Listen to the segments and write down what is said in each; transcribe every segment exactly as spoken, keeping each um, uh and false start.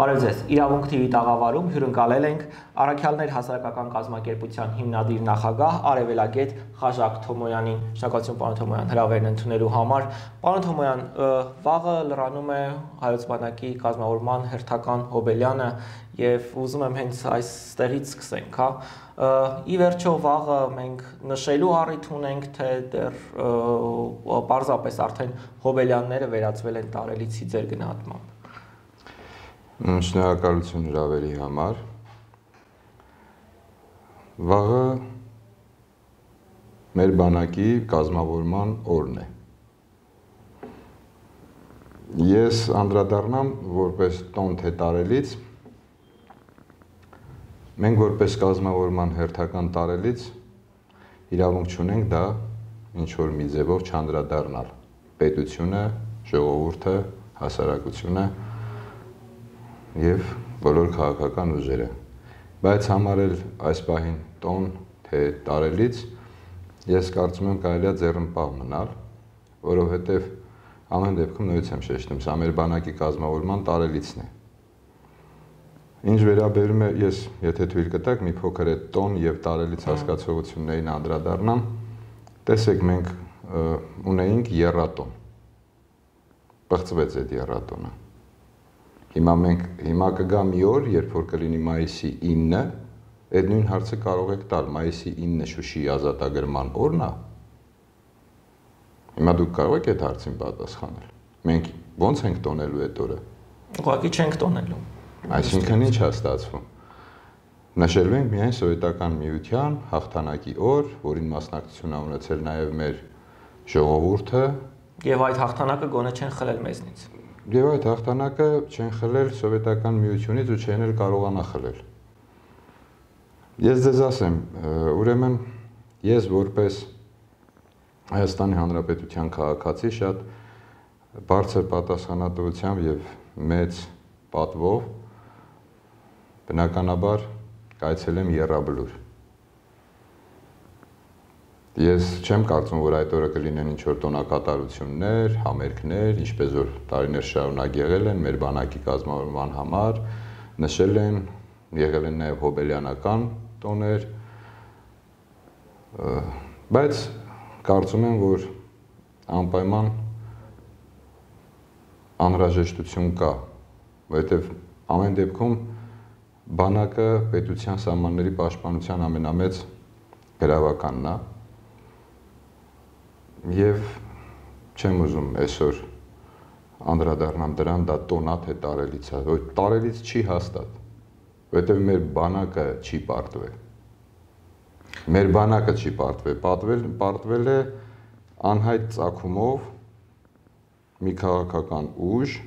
Բարև ձեզ, իրավունք թիվի տաղավարում հյուրընկալել ենք Առաքյալներ հասարակական կազմակերպության հիմնադիր նախագահ Արևելագետ Խաժակ Թոմոյանին։ Շնորհակալություն պարոն Թոմոյան հրավերն ընդունելու համար։ Պարոն Թոմոյան, վաղը լրանում է Հայոց բանակի կազմավորման հերթական հոբելյանը եւ ուզում եմ հենց այստեղից սկսենք, հա։ Ի վերջո վաղը մենք նշելու առիթ ունենք, թե դեռ պարզապես արդեն հոբելյանները վերածվել են տարելիցի ձեր գնահատմամբ։ Շնորհակալություն հրավերի համար։ Վաղը մեր բանակի կազմավորման օրն է։ Ես անդրադառնամ որպես տոն թե տարելից, մենք որպես կազմավորման հերթական տարելից իրավունք չունենք դա ինչ-որ մի ձևով չանդրադառնալ։ Պետությունը, ժողովուրդը, հասարակությունը և բոլոր քաղաքական ուժերը, բայց համարել այս պահին տոն թե տարելից, ես կարծում եմ կարելի է ձեռնպահ մնալ, որովհետև ամեն դեպքում նույնպես եմ շեշտում, սա մեր բանակի կազմավորման տարելիցն է։ Ինչ վերաբերում է, ես եթե թույլ կտաք, մի փոքր է տոն և տարելից հասկացողություններին անդրադառնամ, տեսեք մենք ունեինք եռատոն, պղծվեց այդ եռատոնը։ Հիմա մենք, հիմա կգա մի օր, երբ որ կլինի մայիսի ինը, այդ նույն հարցը կարող եք տալ, մայիսի ինը Շուշիի ազատագրման օրն է։ Հիմա դուք կարող եք այդ հարցին պատասխանել։ Մենք ո՞նց ենք տոնելու այդ օրը։ Ուղղակի չենք տոնելու։ Այսինքն ինչ է ստացվում։ Նշելու ենք միայն Սովետական Միության հաղթանակի օր, որին մասնակցություն է ունեցել նաև մեր ժողովուրդը։ Եվ այդ հաղթանակը գոնե չեն խլել մեզնից։ Եվ այդ հաղթանակը չեն խլել Սովետական Միությունից ու չեն էլ կարողանա խլել։ Ես ձեզ ասեմ, ուրեմն ես որպես Հայաստանի Հանրապետության քաղաքացի շատ բարձր պատասխանատվությամբ և մեծ պատվով բնականաբար կայցելեմ Եռաբլուր։ Ես չեմ կարծում, որ այդ օրը կլինեն ինչ-որ տոնակատարություններ, համերգներ, ինչպես որ տարիներ շարունակ եղել են մեր բանակի կազմավորման համար, նշել են, եղել են նաև հոբելյանական տոներ, բայց կարծում եմ, որ անպայման անհրաժեշտություն կա, որովհետև ամեն դեպքում բանակը պետության սահմանների պաշտպանության ամենամեծ գրավականն է։ Եվ չեմ ուզում այսօր անդրադառնամ դրան, դա տոնա թե տարելից է, որ տարելից չի հաստատ, որովհետև մեր բանակը չի պարտվել։ Մեր բանակը չի պարտվել, պարտվել, պարտվել է անհայտ ծագումով մի քաղաքական ուժ,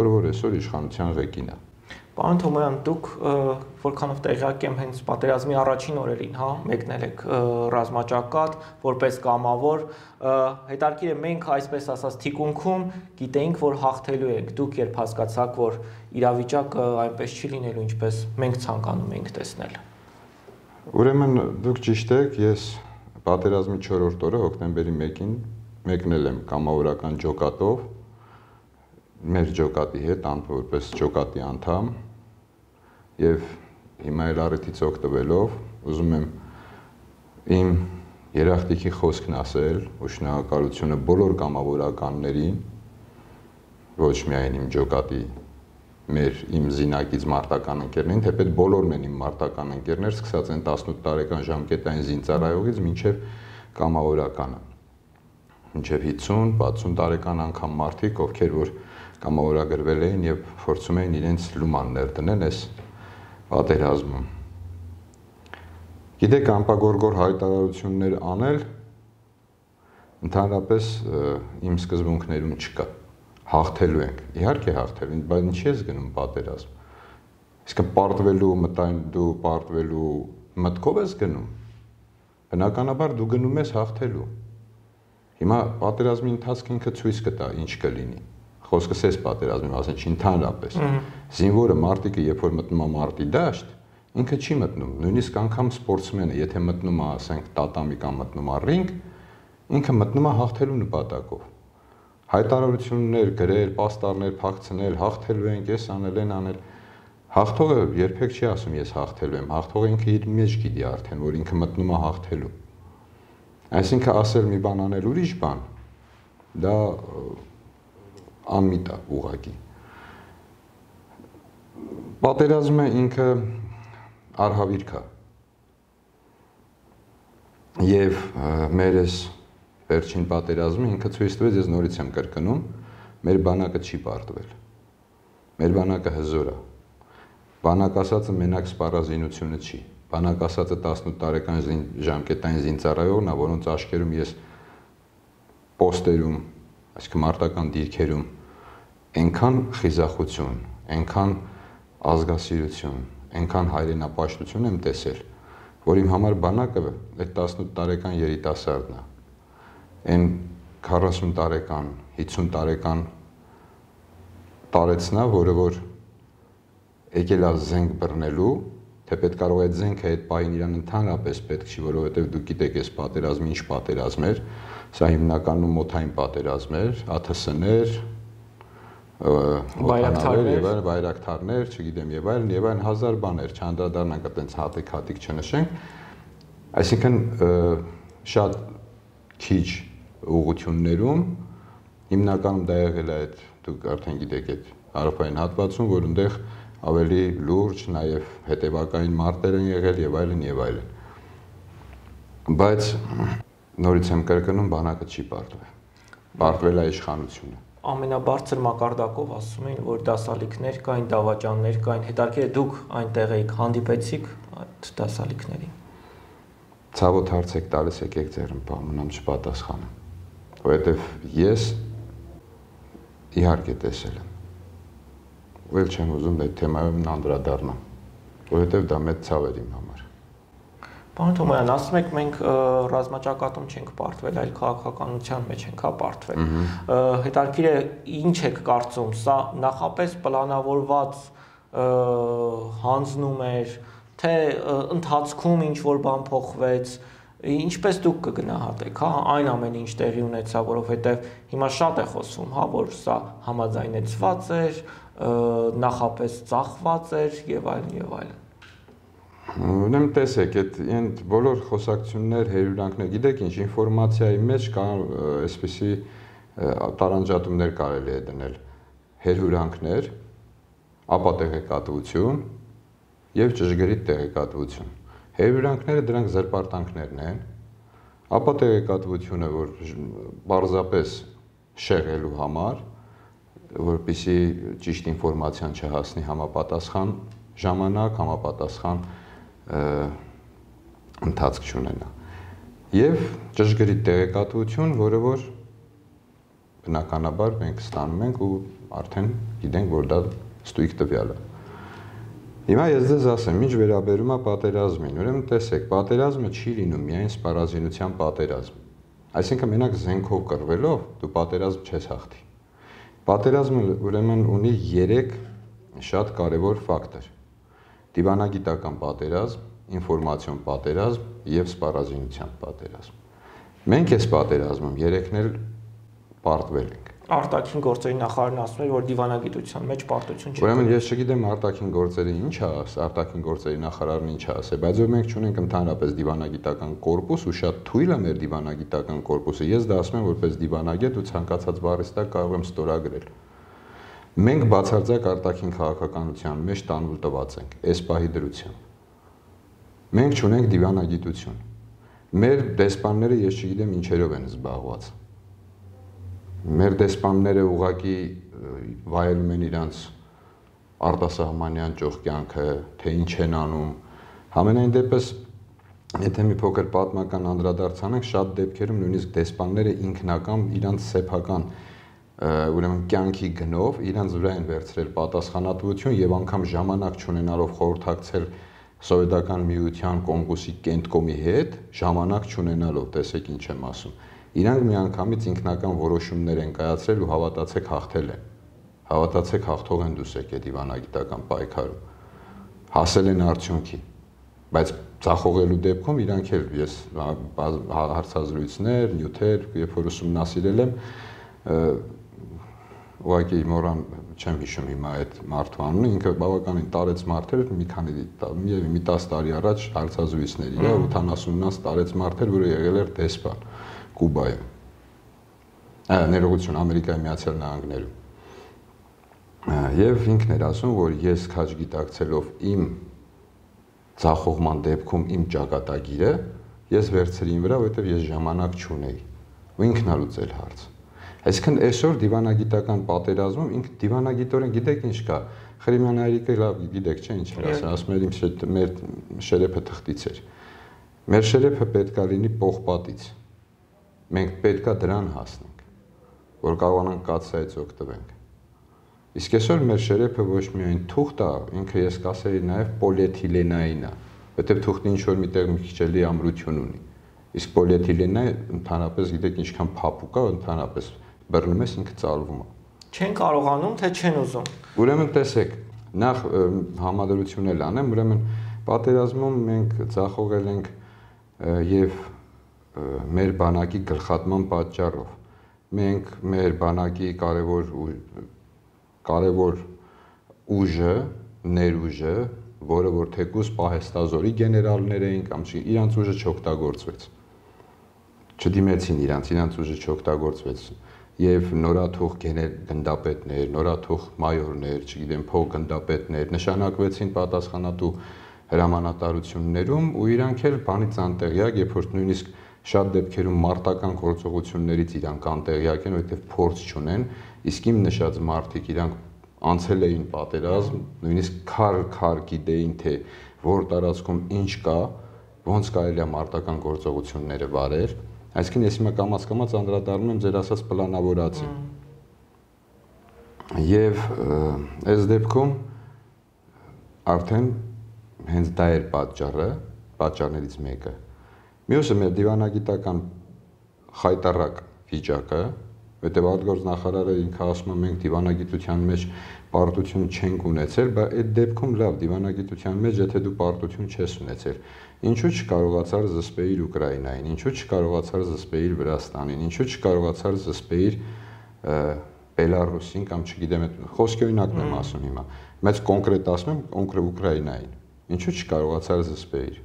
որը որ այսօր իշխանության ղեկին է։ Պարոն Թոմոյան, դուք որքանով տեղյակ եմ հենց պատերազմի առաջին օրերին, հա, մեկնել եք ռազմաճակատ, որպես կամավոր, հետաքրքիր է մենք այսպես ասած թիկունքում գիտեինք, որ հաղթելու ենք, դուք երբ հասկացաք, որ իրավիճակը այնպես չի լինելու, ինչպես մենք ցանկանում էինք տեսնել։ Ուրեմն դուք ճիշտ եք, ես պատերազմի չորրորդ օրը հոկտեմբերի մեկին մեկնել եմ կամավորական ջոկատով, մեր ջոկատի հետ, որպես ջոկատի անդամ, և հիմա էլ առիթից օգտվելով, ուզում եմ իմ երախտիքի խոսքն ասել ու շնորհակալությունը բոլոր կամավորականներին, ոչ միայն իմ ջոկատի, մեր իմ զինակից մարտական ընկերներին, թեպետ բոլորն են իմ մարտական ընկերներ, սկսած են տասնութ տարեկան ժամկետային զինծառայողից մինչև կամավորականը, մինչև հիսուն, վաթսուն տարեկան անգամ մարդիկ, ովքեր որ կամավորագրվել էին և փորձում էին իրենց լուման ներդնել այս պատերազմում։ Գիտեք, անպագորգոր հայտարարություններ անել ընդհանրապես իմ սկզբունքներում չկա։ Հաղթելու ենք, իհարկե հաղթելու ենք, բայց ինչի ես գնում պատերազմ։ Իսկ պարտվելու մտային դու պարտվելու մտքով ես գնում։ Բնականաբար դու գնում ես հաղթելու։ Հիմա պատերազմի ընթացքը ինքը ցույց կտա ինչ կլինի։ Խոսքս էս պատերազմի մասին չի, ընդհանրապես։ Զինվորը մարտիկը երբ որ մտնում է մարտի դաշտ, ինքը չի մտնում, նույնիսկ անգամ սպորտսմենը, եթե մտնում է, ասենք, տատամի կամ մտնում է ռինգ, ինքը մտնում է հաղթելու նպատակով։ հայտարարություններ գրել, պաստառներ փակցնել, հաղթելու ենք, ես անել են անել։ Հաղթողը երբեք չի ասում ես հաղթելու եմ, հաղթողը ինքը իր մեջ գիտի արդեն, որ ինքը մտնում է հաղթելու։ Այսինքն ասել մի բան անել ուրիշ բան, դա անմիտ է ուղղակի։ Պատերազմը ինքը արհավիրք է։ Եվ մեր այս վերջին պատերազմը ինքը ցույց տվեց, ես նորից եմ կրկնում, մեր բանակը չի պարտվել։ Մեր բանակը հզոր է։ Բանակ ասածը մենակ սպառազինությունը չի։ Բանակ ասածը տասնութ տարեկան ժամկետային զինծառայողն է, որոնց աչքերում ես պոստերում, այսինքն մարտական դիրքերում այնքան խիզախություն, այնքան ազգասիրություն, այնքան հայրենապաշտություն եմ տեսել, որ իմ համար բանակը այդ տասնութ տարեկան երիտասարդն է։ Այն քառասուն տարեկան, հիսուն տարեկան տարեցնա, որը որ եկել է զենք բռնելու, թեպետ կարող է այդ զենքը այդ պահին իրան ընդհանրապես պետք չի, որովհետև դուք գիտեք, այս պատերազմը ինչ պատերազմ էր, սա հիմնականում օդային պատերազմ էր, ԱԹՍ-ներ, բայրակթարներ եւ այլն, բայրակթարներ, չգիտեմ, եւ այլն, եւ այլն հազար բաներ, չանդրադառնանք այդպես հատիկ-հատիկ չնշենք, այսինքն շատ քիչ ուղղություններում հիմնականում դա եղել է այդ դուք արդեն գիտեք այդ հարավային հատվածում, որ այնտեղ ավելի լուրջ, նաև հետևակային մարտեր են եղել եւ այլն եւ այլն։ Բայց նորից եմ կրկնում, բանակը չի պարտվել։ Պարտվել է իշխանությունը։ Ամենաբարձր մակարդակով ասում էին, որ դասալիքներ կային, դավաճաններ կային, հետաքրքիր է դուք այնտեղ եք հանդիպեցիք այդ դասալիքներին։ Ցավոտ հարց եք տալիս, եկեք ձեռնպահ մնամ չպատասխանեմ, որովհետև ես իհարկե տեսել եմ, ու էլ չեմ ուզում այդ թեմայում անդրադառնամ, որովհետև դա մեծ ցավ էր իմ համար։ Պարոն Թոմոյան, ասում եք մենք ռազմաճակատում չենք պարտվել, այլ քաղաքականության մեջ ենք պարտվել։ Հետաքրքիր է, ինչ եք կարծում, սա նախապես պլանավորված հանձնում էր, թե ընթացքում ինչ որ բան փոխվեց, ինչպես դուք կգնահատեք, հա, այն ամեն ինչ տեղի ունեցավ, որովհետև հիմա շատ է խոսվում, հա, որ սա համաձայնեցված էր, նախապես ծախված էր եւ այլն եւ այլն։ Ուրեմն տեսեք, այդ բոլոր խոսակցություններ, հերյուրանքներ, գիտեք ինչ, ինֆորմացիայի մեջ կա այսպիսի տարանջատումներ կարելի է դնել, հերյուրանքներ, ապա տեղեկատվություն եւ ճշգրիտ տեղեկատվություն։ Հերյուրանքները դրանք զրպարտանքներն են, ապա տեղեկատվությունը, որ պարզապես շեղելու համար, որպեսզի ճիշտ ինֆորմացիան չհասնի համապատասխան ժամանակ, համապատասխան ընթացք չունենա։ Եվ ճշգրիտ տեղեկատվություն, որը որ բնականաբար մենք ստանում ենք ու արդեն գիտենք, որ դա ստույգ տվյալ է։ Հիմա ես ձեզ ասեմ, ինչ վերաբերում է պատերազմին, ուրեմն տեսեք, պատերազմը չի լինում միայն սպառազինության պատերազմ։ Այսինքն մենակ զենքով կռվելով դու պատերազմ չես հաղթի։ Պատերազմը ուրեմն ունի երեք շատ կարևոր ֆակտոր։ Դիվանագիտական պատերազմ, ինֆորմացիոն պատերազմ եւ սպառազինության պատերազմ։ Մենք այս պատերազմում երեքն էլ պարտվել ենք։ Արտաքին գործերի նախարարն ասում էր, որ դիվանագիտության մեջ պարտություն չի։ Ուրեմն ես չգիտեմ արտաքին գործերի ինչ է, արտաքին գործերի նախարարն ինչ է ասել, բայց որ մենք չունենք ընդհանրապես դիվանագիտական կորպուս ու շատ թույլ է մեր դիվանագիտական կորպուսը։ Ես դա ասում եմ որպես դիվանագետ ու ցանկացած բառից տակ կարող եմ ստորագրել։ Մենք բացարձակ արտաքին քաղաքականության մեջ տանուլ տված ենք, այս պահի դրությամբ։ Մենք չունենք դիվանագիտություն։ Մեր դեսպանները ես չգիտեմ ինչերով են զբաղված։ Մեր դեսպանները ուղղակի վայելում են իրանց արտասահմանյան ճոխ կյանքը, թե ինչ են անում։ Համենայն դեպս, եթե մի փոքր պատմական անդրադարձանենք, շատ դեպքերում նույնիսկ դեսպանները ինքնական իրանց սեփական ուրեմն կյանքի գնով իրանց վրա են վերցրել պատասխանատվություն եւ անգամ ժամանակ չունենալով խորհրդակցել սովետական միության կոնգրեսի կենտկոմի հետ, ժամանակ չունենալով, տեսեք ինչ եմ ասում։ Իրանք միանգամից ինքնական որոշումներ են կայացրել ու հավատացեք հաղթել են։ Հավատացեք հաղթող են դուս եկել դիվանագիտական պայքարում։ Հասել են արդյունքի։ Բայց ցախողելու դեպքում իրանք էլ ես հարցազրույցներ, նյութեր, երբ որ ուսումնասիրել եմ, ուղղակի մորան չեմ հիշում հիմա այդ մարդու անունը, ինքը բավականին տարեց մարդ էր, մի քանի միևնույն մի տասը տարի առաջ հարցազրույցներ իր ութանասունից տարեց մարդ էր, որը եղել էր դեսպան Կուբայում։ Ա ներողություն, Ամերիկայի Միացյալ Նահանգներում։ Եվ ինքն էր ասում, որ ես քաջ գիտակցելով իմ ցախողման դեպքում իմ ճակատագիրը, ես վերցրի իմ վրա, որովհետև ես ժամանակ չունեի։ Ու ինքն ա լուծել հարցը։ Այսինքն այսօր դիվանագիտական պատերազմում ինքը դիվանագիտորեն գիտեք ինչ կա։ Խրիմյան հայրիկը լավ գիտեք, չէ՞ ինչ էր ասում, ասում էր իմ մեր շերեփը թղթից էր։ Մեր շերեփը պետքա լինի պողպատից։ Մենք պետքա դրան հասնենք, որ կարողանանք կաթսայից օգտվենք։ Իսկ այսօր մեր շերեփը ոչ միայն թուղթ է, ինքը ես կասեի նաև պոլիէթիլենային է, որտեղ թուղթը ինչ որ միտեղ մի քիչ էլի ամրություն ունի։ Իսկ պոլիէթիլենը ընդհանրապես գիտեք ինչքան փափուկ է, ընդհանրապես բռնում ես ինքը ծալվում է։ Չեն կարողանում, թե չեն ուզում։ Ուրեմն տեսեք, նախ համադրություն էլ անեմ, ուրեմն պատերազմում մենք ցախողել ենք եւ մեր բանակի գլխատման պատճառով։ Մենք մեր բանակի կարևոր կարևոր ուժը, ներուժը, որը որ թեկուզ պահեստազորի գեներալներ էին կամ իրանց ուժը չօգտագործվեց։ Չդիմեցին իրանց, իրանց ուժը չօգտագործվեց եւ նորաթուխ գնդապետներ, նորաթուխ մայորներ, չգիտեմ, փող գնդապետներ նշանակվեցին պատասխանատու հրամանատարություններում ու իրանք էլ բանից անտեղյակ, երբ որ նույնիսկ շատ դեպքերում մարտական գործողություններից իրանք անտեղյակ են, որովհետեւ փորձ չունեն, իսկ իմ նշած մարդիկ իրանք անցել էին պատերազմ, նույնիսկ քար-քար գիտեին, թե որ տարածքում ինչ կա, ոնց կարելի է մարտական գործողությունները վարել, այսինքն ես հիմա կամաց-կամաց անդրադառնում եմ ձեր ասած պլանավորածին։ Եվ այս դեպքում արդեն հենց դա էր պատճառը, պատճառներից մեկը։ Մյուսը մեր դիվանագիտական խայտառակ վիճակը, որտեղ արտգործնախարարը ինքը ասում է մենք դիվանագիտության մեջ պարտություն չենք ունեցել, բայց այդ դեպքում լավ դիվանագիտության մեջ եթե դու պարտություն չես ունեցել, ինչու չկարողացար զսպեիր Ուկրաինային, ինչու չկարողացար զսպեիր Վրաստանին, ինչու չկարողացար զսպեիր Բելարուսին կամ չգիտեմ, խոսքի օրինակն եմ ասում հիմա, բայց կոնկրետ ասում եմ կոնկրետ Ուկրաինային, ինչու չկարողացար զսպեիր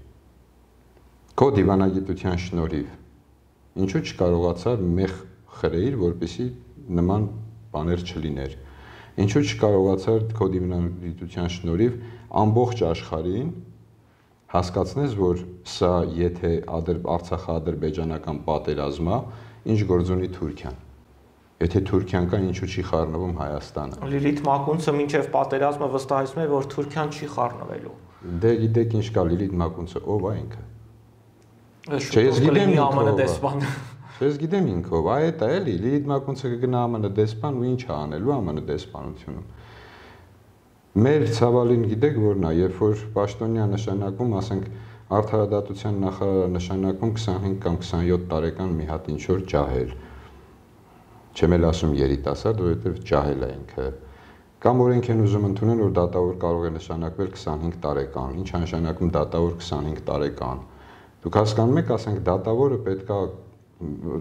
քո դիվանագիտության շնորհիվ, ինչու չկարողացար մեղ խրեիր, որպեսզի նման բաներ չլիներ։ Ինչու չկարողացար քո դիվանագիտության շնորհիվ ամբողջ աշխարհին հասկացնես, որ սա եթե Արցախա-ադրբեջանական պատերազմ է, ինչ գործ ունի Թուրքիան։ Եթե Թուրքիան կա, ինչու չի խառնվում Հայաստանը։ Լիլիթ Մակունցը մինչև պատերազմը վստահեցնում է, որ Թուրքիան չի խառնվելու։ Դե գիտեք ինչ կա Լիլիթ Մակունցը, ով է ինքը։ Չէ, ես գիտեմ ԱՄՆ դեսպան։ Ես գիտեմ ինքով, այդ է էլի, Լիլիթ Մակունցը կգնա ԱՄՆ դեսպան ու ինչ է անելու ԱՄՆ դեսպանությունում։ Մեր ցավալին գիտեք որն է, երբ որ պաշտոնյա նշանակում, ասենք արդարադատության նախարարը նշանակում քսանհինգ կամ քսանյոթ տարեկան մի հատ ինչ որ ջահել։ Չեմ էլ ասում երիտասարդ, որովհետև ջահել է ինքը։ Կամ օրենք են ուզում ընդունել, որ դատավոր կարող է նշանակվել քսանհինգ տարեկան։ Ինչ է նշանակում դատավոր քսանհինգ տարեկան։ Դուք հասկանում եք, ասենք դատավորը պետքա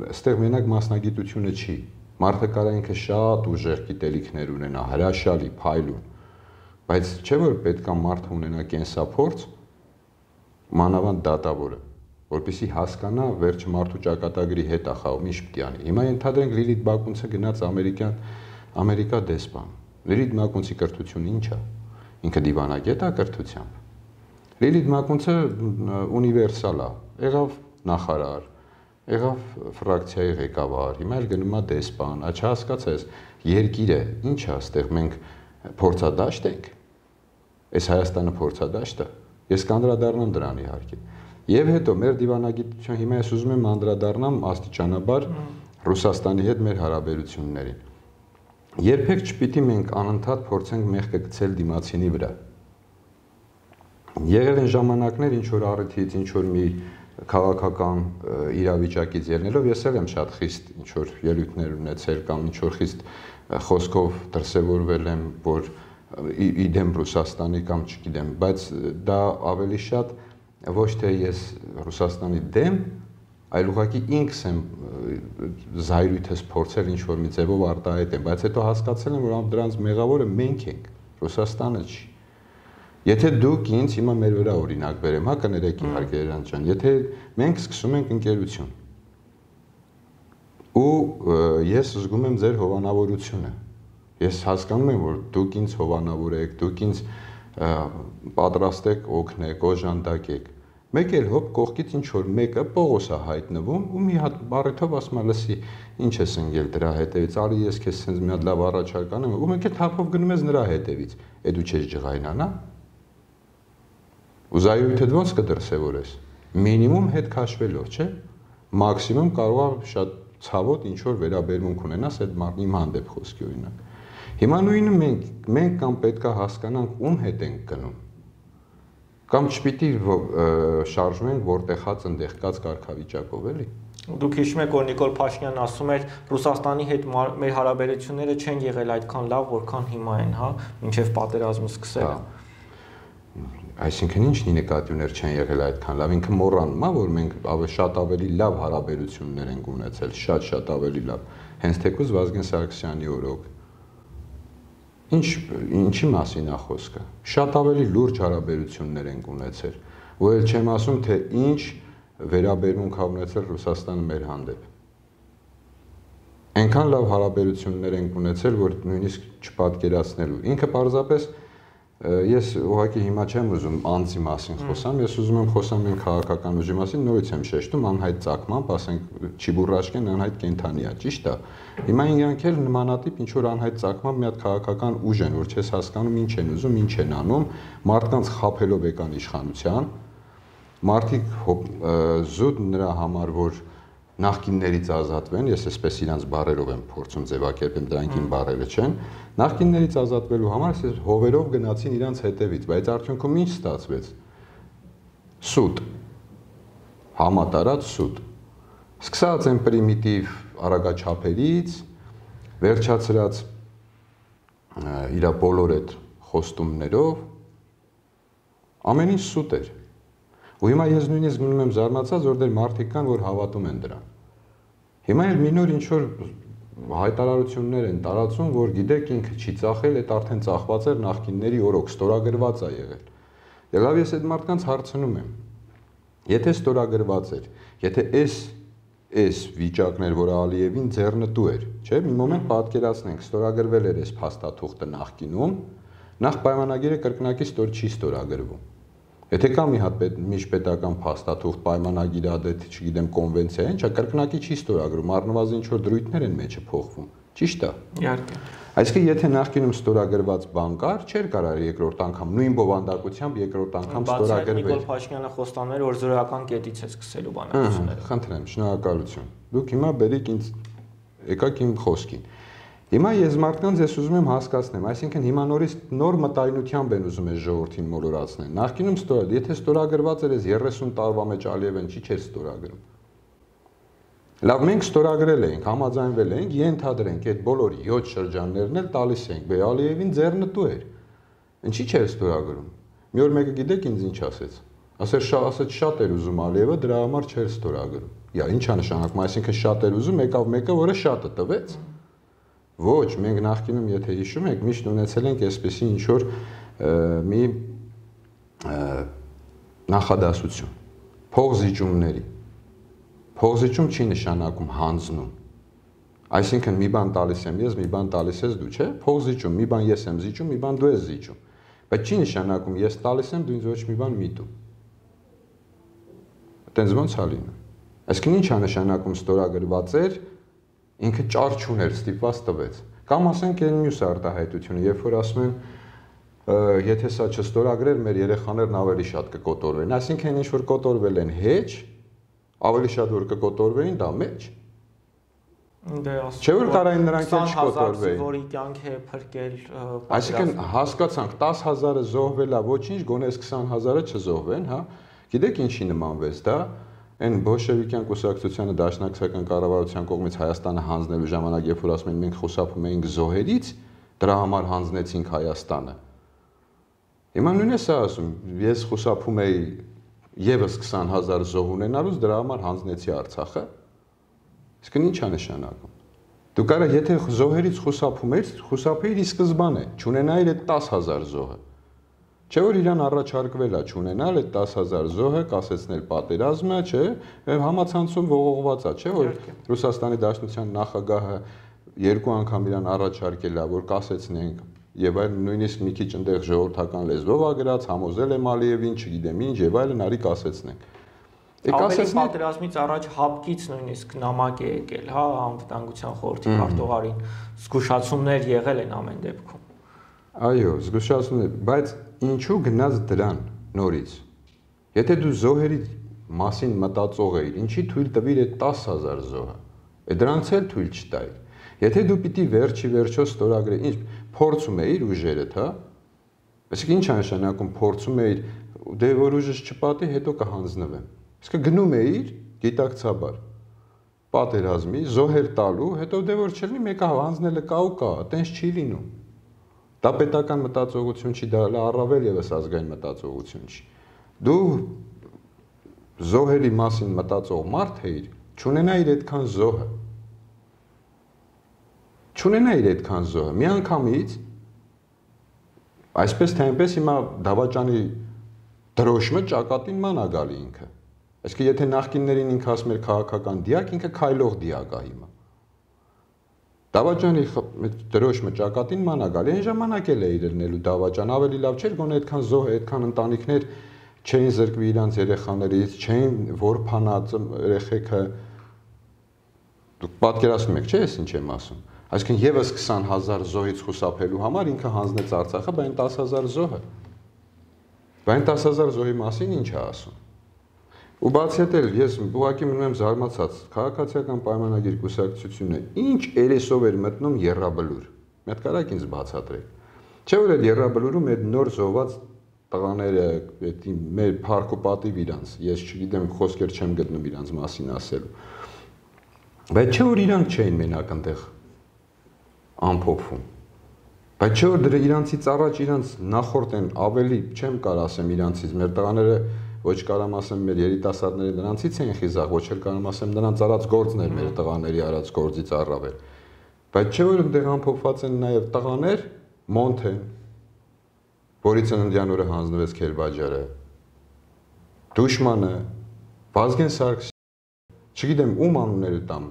այստեղ մենակ մասնագիտությունը չի։ Մարդը կարա ինքը շատ ուժեղ գիտելիքներ ունենա, հրաշալի, փայլուն, բայց չէ որ պետքա մարդը ունենա կենսափորձ, մանավանդ դատավորը, որպեսզի հասկանա վերջ մարդու ճակատագրի հետ է խաղում, ինչ պետք է անի։ Հիմա ենթադրենք Լիլիթ Մակունցը գնաց ամերիկյան Ամերիկա դեսպան։ Լիլիթ Մակունցի կրթությունը ինչ է։ Ինքը դիվանագետ է կրթությամբ։ Լիլիթ Մակունցը ունիվերսալ է, եղավ նախարար, եղավ ֆրակցիայի ղեկավար, հիմա էլ գնում է դեսպան, չհասկացես, երկիրը ինչ է, այստեղ մենք փորձադաշտ ենք։ Այս Հայաստանը փորձադաշտ է։ Ես կանդրադառնամ դրան իհարկե։ Եվ հետո մեր դիվանագիտության հիմա ես ուզում եմ անդրադառնամ աստիճանաբար Ռուսաստանի հետ մեր հարաբերություններին։ Երբեք չպիտի մենք անընդհատ փորձենք մեղքը գցել դիմացինի վրա։ Եղել են ժամանակներ, ինչ որ առիթից, ինչ որ մի քաղաքական իրավիճակից ելնելով ես էլ եմ շատ խիստ ինչ որ ելույթներ ունեցել կամ ինչ որ խիստ խոսքով դրսևորվել եմ, որ իդեմ Ռուսաստանի կամ չգիտեմ, բայց դա ավելի շատ ոչ թե ես Ռուսաստանի դեմ, այլ ուղղակի ինքս եմ զայրույթս փորձել ինչ որ մի ձևով արտահայտեմ, բայց հետո հասկացել եմ, որ դրանց մեղավորը մենք ենք, Ռուսաստանը չի։ Եթե դուք ինձ հիմա մեր վրա օրինակ բերեմ, հա կներեք իհարկե Երանց ջան, եթե մենք սկսում ենք ընկերություն ու ես զգում եմ ձեր հովանավորությունը, ես հասկանում եմ, որ դուք ինձ հովանավոր եք, դուք ինձ պատրաստ եք օգնեք, օժանդակեք, մեկ էլ հոп կողքից ինչ որ մեկը Պողոս է հայտնվում ու մի հատ բառերով ասում է, լսի, ինչ ես ընկել դրա հետևից, արի ես քեզ sense մի հատ լավ առաջարկ անեմ, ու մեկ էլ թափով գնում ես նրա հետևից, է դու չես ջղայնանա։ Ու զայրույթդ ոնց կդրսևորես։ Մինիմում հետ քաշվելով, չէ՞։ Մաքսիմում կարող է շատ ցավոտ ինչ որ վերաբերմունք ունենաս այդ մարդի հանդեպ խոսքի օրինակ։ Հիմա նույնը մենք մենք կամ պետքա հասկանանք ում հետ ենք գնում։ Կամ չպիտի շարժվենք որտեղ հաց ընդեղ կած կարգավիճակով էլի։ Դուք հիշում եք, որ Նիկոլ Փաշինյանն ասում էր Ռուսաստանի հետ մեր հարաբերությունները չեն եղել այդքան լավ, որքան հիմա են, հա, մինչև պատերազմը սկսելը։ Այսինքն ինչն ի նկատի ուներ չեն եղել այդքան լավ, ինքը մոռանում է, որ մենք շատ ավելի լավ հարաբերություններ ենք ունեցել, շատ-շատ ավելի լավ։ Հենց թեկուզ Վազգեն Սարգսյանի օրոք։ Ինչ ինչի մասին է խոսքը։ Շատ ավելի լուրջ հարաբերություններ ենք ունեցել։ Ու էլ չեմ ասում, թե ինչ վերաբերմունք ա ունեցել Ռուսաստանը մեր հանդեպ։ Այնքան լավ հարաբերություններ ենք ունեցել, որ նույնիսկ չպատկերացնելու։ Ինքը պարզապես ես ուղղակի հիմա չեմ ուզում անձի մասին խոսամ, ես ուզում եմ խոսամ իմ քաղաքական ուժի մասին, նորից եմ շեշտում անհայտ ծագմամբ, ասենք Չիբուրաշկեն անհայտ կենթանի է, ճիշտ է։ Հիմա իրանք էլ նմանատիպ ինչ որ անհայտ ծագմամբ մի հատ քաղաքական ուժ են, որ չես հասկանում ինչ են ուզում, ինչ են անում, մարդկանց խաբելով եկան իշխանության, մարդիկ զուտ նրա համար, որ նախկիններից ազատվեն, ես այսպես իրանց բարերով եմ փորձում ձևակերպեմ, դրանք իմ բարերը չեն, նախկիններից ազատվելու համար ես հովերով գնացին իրանց հետևից, բայց արդյունքում ինչ ստացվեց։ Սուտ, համատարած սուտ։ Սկսած են պրիմիտիվ արագաչափերից, վերջացրած իր բոլոր այդ խոստումներով, ամեն ինչ սուտ էր։ Ու հիմա ես նույնիսկ մնում եմ զարմացած, որ դեր մարդիկ կան, որ հավատում են դրան։ Հիմա էլ մի նոր ինչ որ հայտարարություններ են տարածում, որ գիտեք ինքը չի ծախել, այդ արդեն ծախված էր նախկինների օրոք, ստորագրված է եղել։ Դե լավ, ես այդ մարդկանց հարցնում եմ։ Եթե ստորագրված էր, եթե այս այս վիճակն էր, որ Ալիևին ձեռնտու էր, չէ՞, մի մոմենտ պատկերացնենք, ստորագրվել էր այս փաստաթուղթը նախկինում, նախ պայմանագիրը կրկնակի ստոր չի ստորագրվում։ Եթե կա մի հատ միջպետական փաստաթուղթ, պայմանագիր, ադետ, չգիտեմ, կոնվենցիա, ինչա կրկնակի չի ստորագրում, առնվազն ինչ որ դրույթներ են մեջը փոխվում։ Ճիշտ է։ Իհարկե։ Այսինքն եթե նախկինում ստորագրված բան կար, չէր կարող երկրորդ անգամ նույն բովանդակությամբ երկրորդ անգամ ստորագրվել։ Նիկոլ Փաշինյանը խոստանում էր, որ զորական կետից է սկսելու բանակցությունները։ Խնդրեմ, շնորհակալություն։ Դուք հիմա բերիք ինձ եկաք իմ խոսքին։ Հիմա ես մարդկանց ես ուզում եմ հասկացնեմ, այսինքն հիմա նորից նոր մտայնությամբ են ուզում այս ժողովրդին մոլորացնել։ Նախկինում ստոր, եթե ստորագրված էր երեսուն տարվա մեջ Ալիևեն չի չէր ստորագրում։ Լավ, մենք ստորագրել էինք, համաձայնվել էինք, ենթադրենք այդ բոլոր յոթ շրջաններն էլ տալիս էինք, բե Ալիևին ձեռնտու էր։ Ինչի՞ չէր ստորագրում։ Մի օր մեկը գիտեք ինձ ինչ ասեց։ Ասեր ասեց շատ էր ուզում Ալիևը, դրա համար չէր ստորագրում։ Իա, ի՞նչ է նշանակում, այսինքն շատ էր ուզում, եկավ մեկը, որը շատը տվեց։ Ոչ, մենք նախկինում, եթե հիշում եք, միշտ ունեցել ենք այսպեսի ինչ որ մի նախադասություն, փողզիջումների։ Փողզիջում չի նշանակում հանձնում։ Այսինքն մի բան տալիս եմ ես, մի բան տալիս ես դու, չէ՞։ Փողզիջում, մի բան ես եմ զիջում, մի բան դու ես զիջում։ Բայց չի նշանակում ես տալիս եմ, դու ինձ ոչ մի բան մի տու։ Այդտենց ոնց է լինում։ Այսինքն ինչ է նշանակում ստորագրված էր, ինքը ճար չուներ, ստիպված տվեց։ Կամ ասենք այն մյուս արտահայտությունը, երբ որ ասում են, եթե սա չստորագրեր, մեր երեխաներն ավելի շատ կկոտորվեն, այսինքն ինչ որ կոտորվել են հեչ, ավելի շատ որ կկոտորվեին, դա մեջ։ Դե ասում։ Չէ՞ որ կարային նրանք էլ չկոտորվեին։ Որի կյանք է փրկել։ Այսինքն հասկացանք դես հազարը զոհվելա, ոչինչ, գոնե քսան հազարը չզոհվեն, հա։ Գիտեք ինչի նմանվեց դա։ Այն բոլշևիկյան կուսակցությանը դաշնակցական կառավարության կողմից Հայաստանը հանձնելու ժամանակ, երբ որ ասում են մենք խուսափում էինք զոհերից, դրա համար հանձնեցինք Հայաստանը։ Հիմա նույնն է սա ասում, ես խուսափում էի եւս քսան հազար զոհ ունենալուց դրա համար հանձնեցի Արցախը։ Իսկ ինչ է նշանակում։ Դու կարա եթե զոհերից խուսափում ես, խուսափեիր ի սկզբանե, չունենայիր այդ տասը հազար զոհը։ Չէ՞ որ իրան առաջարկվել է չունենալ այդ տասը հազար զոհը, կասեցնել պատերազմը, չէ՞, համացանցում ողողված է, չէ՞ որ Ռուսաստանի Դաշնության նախագահը երկու անգամ իրան առաջարկել է, որ կասեցնենք եւ այլ նույնիսկ մի քիչ այնտեղ ժողովրդական լեզվով ա գրած, համոզել եմ Ալիևին, չգիտեմ ինչ եւ այլն, արի կասեցնենք։ Ավելի պատերազմից առաջ հապկից նույնիսկ նամակ է եկել, հա, անվտանգության խորհրդի քարտուղարին, զգուշացումներ եղել են ամեն դեպքում։ Այո, զգուշացումներ, բայց ինչու գնաց դրան նորից։ Եթե դու զոհերի մասին մտածող էիր, ինչի թույլ տվիր այդ տասը հազար զոհը։ Է դրանց էլ թույլ չտայր։ Եթե դու պիտի վերջի վերջո ստորագրել, ինչ փորձում էիր ուժերդ, հա։ Այսինքն ինչ է նշանակում փորձում էիր, դե որ ուժս չպատի, հետո կհանձնվեմ։ Իսկ գնում էիր գիտակցաբար պատերազմի, զոհեր տալու, հետո դե որ չլինի մեկը հանձնելը կա ու կա, այտենց չի լինում։ Դա պետական մտածողություն չի, դա առավել եւս ազգային մտածողություն չի։ Դու զոհերի մասին մտածող մարդ էիր, չունենայիր այդքան զոհը։ Չունենայիր այդքան զոհը։ Մի անգամից այսպես թե այնպես հիմա դավաճանի դրոշմը ճակատին ման է գալի ինքը։ Այսինքն եթե նախկիններին ինքը ասում էր քաղաքական դիակ, ինքը քայլող դիակ է հիմա։ Դավաճանի դրոշմը ճակատին ման է գալի, այն ժամանակ էլ է իրենելու դավաճան, ավելի լավ չէր, գոնե այդքան զոհ, այդքան ընտանիքներ չէին զրկվի իրանց երեխաներից, չէին որփանած երեխեքը։ Դուք պատկերացնում եք, չէ՞ ես ինչ եմ ասում։ Այսինքն եւս քսան հազար զոհից խուսափելու համար ինքը հանձնեց Արցախը, բայց այն տասը հազար զոհը։ Բայց այն տասը հազար զոհի մասին ինչ է ասում։ Ու բացի այդ էլ ես ուղղակի մնում եմ զարմացած, քաղաքացիական պայմանագիր կուսակցությունը ինչ երեսով էր մտնում Եռաբլուր։ Մի հատ կարակ ինձ բացատրեք։ Չէ՞ որ այդ Եռաբլուրում այդ նոր զոհված տղաները, այդ մեր փառք ու պատիվ իրանց, ես չգիտեմ, խոսքեր չեմ գտնում իրանց մասին ասելու։ Բայց չէ՞ որ իրանք չէին մենակ այնտեղ ամփոփվում։ Բայց չէ՞ որ դրա իրանցից առաջ իրանց նախորդ են ավելի, չեմ կարող ասեմ իրանցից, մեր տղաները ոչ կարամ ասեմ մեր երիտասարդները նրանցից են խիզախ, ոչ էլ կարամ ասեմ նրանց արած գործն էր մեր տղաների արած գործից առավել։ Բայց չէ՞ որ այնտեղ ամփոփված են նաև տղաներ, Մոնթեն, որի ծննդյան օրը հանձնվեց Քելբաջարը, Դուշմանը, Վազգեն Սարգսյանը, չգիտեմ ում անունները տամ,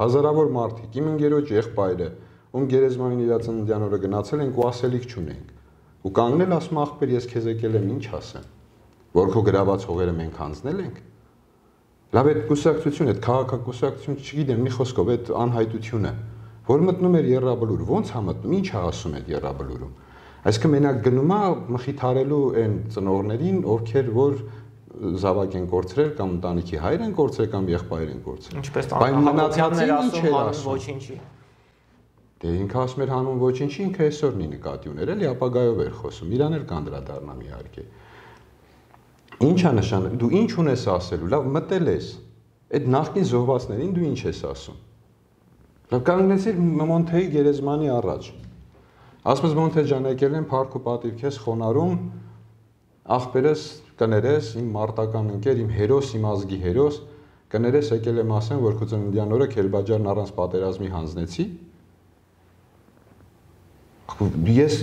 հազարավոր մարդիկ, իմ ընկերոջ եղբայրը, ում գերեզմանին իր ծննդյան օրը գնացել ենք ու ասելիք չունենք։ Ու կանգնել ասում ախպեր ես քեզ եկել եմ ինչ ասեմ, որ քո գրաված հողերը մենք հանձնել ենք։ Լավ այդ կուսակցությունը, այդ քաղաքակուսակցությունը, չգիտեմ, մի խոսքով այդ անհայտությունը, որ մտնում էր Եռաբլուր, ոնց է մտնում, ինչ է ասում այդ Եռաբլուրում։ Այսինքն մենակ գնում է մխիթարելու այն ծնողներին, ովքեր որ զավակ են կորցրել կամ ընտանիքի հայր են կորցրել կամ եղբայր են կորցրել։ Ինչպես մնացածին ինչ է ասում ոչինչի։ Դե ինքը ասում էր հանուն ոչինչի, ինքը այսօրն ի նկատի ուներ, էլի ապագայով էր խոսում, իրան էլ կանդրադառնամ իհարկե։ Ինչ է նշանակում, դու ինչ ունես ասելու, լավ մտել ես, այդ նախկին զոհվածներին դու ինչ ես ասում։ Լավ կանգնեցիր Մոնթեի գերեզմանի առաջ։ Ասում ես Մոնթե ջան, եկել եմ փառք ու պատիվ քեզ խոնարհում, ախպերս կներես, իմ մարտական ընկեր, իմ հերոս, իմ ազգի հերոս, կներես եկել եմ ասեմ, որ քո ծննդյան օրը Քելբաջարն առանց պատերազմի հանձնեցի։ Ես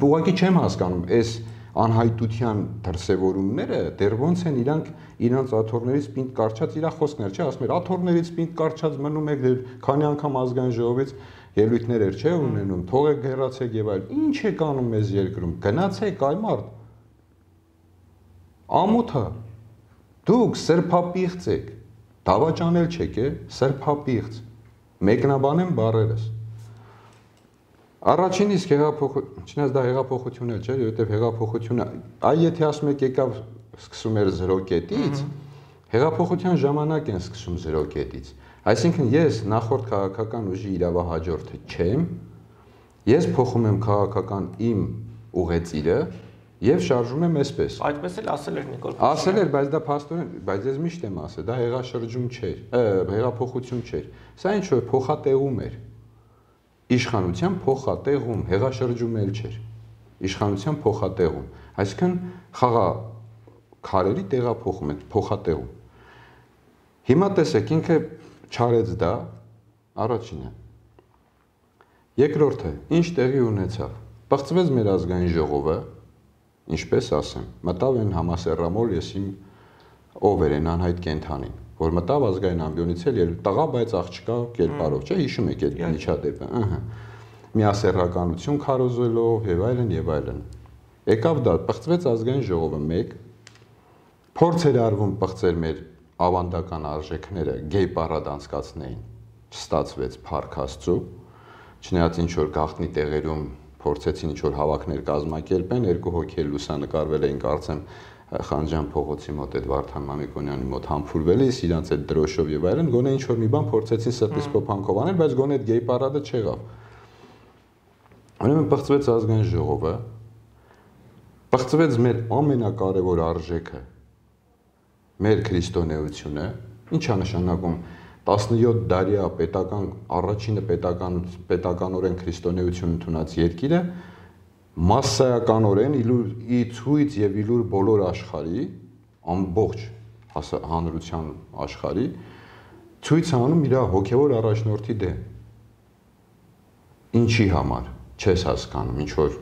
ուղղակի չեմ հասկանում, այս անհայտության դրսևորումները դեռ ոնց են իրանք իրանց աթոռներից պինդ կարճած իրա խոսքներ, չէ, ասում էր աթոռներից պինդ կարճած մնում եք, քանի անգամ ազգային ժողովից ելույթներ էր, չէ, ունենում, թողեք հեռացեք եւ այլ։ Ինչ եք անում մեզ երկրում։ Գնացեք այ մարդ։ Ամոթա։ Դուք սրբապիղծ եք։ Դավաճանել չեք, է, սրբապիղծ։ Մեկնաբանեմ բառերս։ Առաջին իսկ հեղափոխություն, չնայած դա հեղափոխություն էլ չէր, որովհետև հեղափոխությունը, այ եթե ասում եք եկավ սկսում էր զրո կետից, հեղափոխության ժամանակ են սկսում զրո կետից։ Այսինքն ես նախորդ քաղաքական ուժի իրավահաջորդը չեմ, ես փոխում եմ քաղաքական իմ ուղեծիրը եւ շարժում եմ այսպես։ Այդպես էլ ասել էր Նիկոլ Փաշինյանը։ Ասել էր, բայց դա փաստորեն, բայց ես միշտ եմ ասել, դա հեղաշրջում չէր, հեղափոխություն չէր։ Սա ինչ որ փոխատեղում էր։ Իշխանության փոխատեղում, հեղաշրջում էլ չէր։ Իշխանության փոխատեղում, այսինքն խաղա քարերի տեղափոխում են, փոխատեղում։ Հիմա տեսեք, ինքը չարեց դա, առաջինը։ Երկրորդը, ինչ տեղի ունեցավ։ Բացվեց մեր ազգային ժողովը, ինչպես ասեմ, մտավ են համասեռամոլ, ես իմ ով էր են անհայտ կենթանին, որ մտավ ազգային ամբիոնից էլ տղա, բայց աղջկա կերպարով, չէ, հիշում եք այդ միջադեպը, ըհը։ Միասեռականություն քարոզելով եւ այլն եւ այլն։ Եկավ դա, բացվեց ազգային ժողովը մեկ, փորձ էր արվում բացել մեր ավանդական արժեքները գեյ պարադ անցկացնեին, չստացվեց փառք Աստծո, չնայած ինչ որ գաղտնի տեղերում փորձեցին ինչ որ հավաքներ կազմակերպեն, երկու հոգի էլ լուսանկարվել էին, կարծեմ Խանջան փողոցի մոտ այդ Վարդան Մամիկոնյանի մոտ համբուրվելիս, իրանց այդ դրոշով եւ այլն, գոնե ինչ որ մի բան փորձեցին սրտից փոփանքով անել, բայց գոնե այդ գեյ պարադը չեղավ։ Ուրեմն բացվեց ազգային ժողովը, բացվեց մեր ամենակարևոր արժեքը, մեր քրիստոնեությունը, ինչ է նշանակում տասնյոթ դարյա պետական առաջինը պետական պետականորեն քրիստոնեություն ընդունած երկիրը մասսայականորեն ի ցույց եւ իլուր բոլոր աշխարհի ամբողջ հանրության աշխարհի ցույց անում իր հոգեվոր առաջնորդի դեմ։ Ինչի համար չես հասկանում, ինչ որ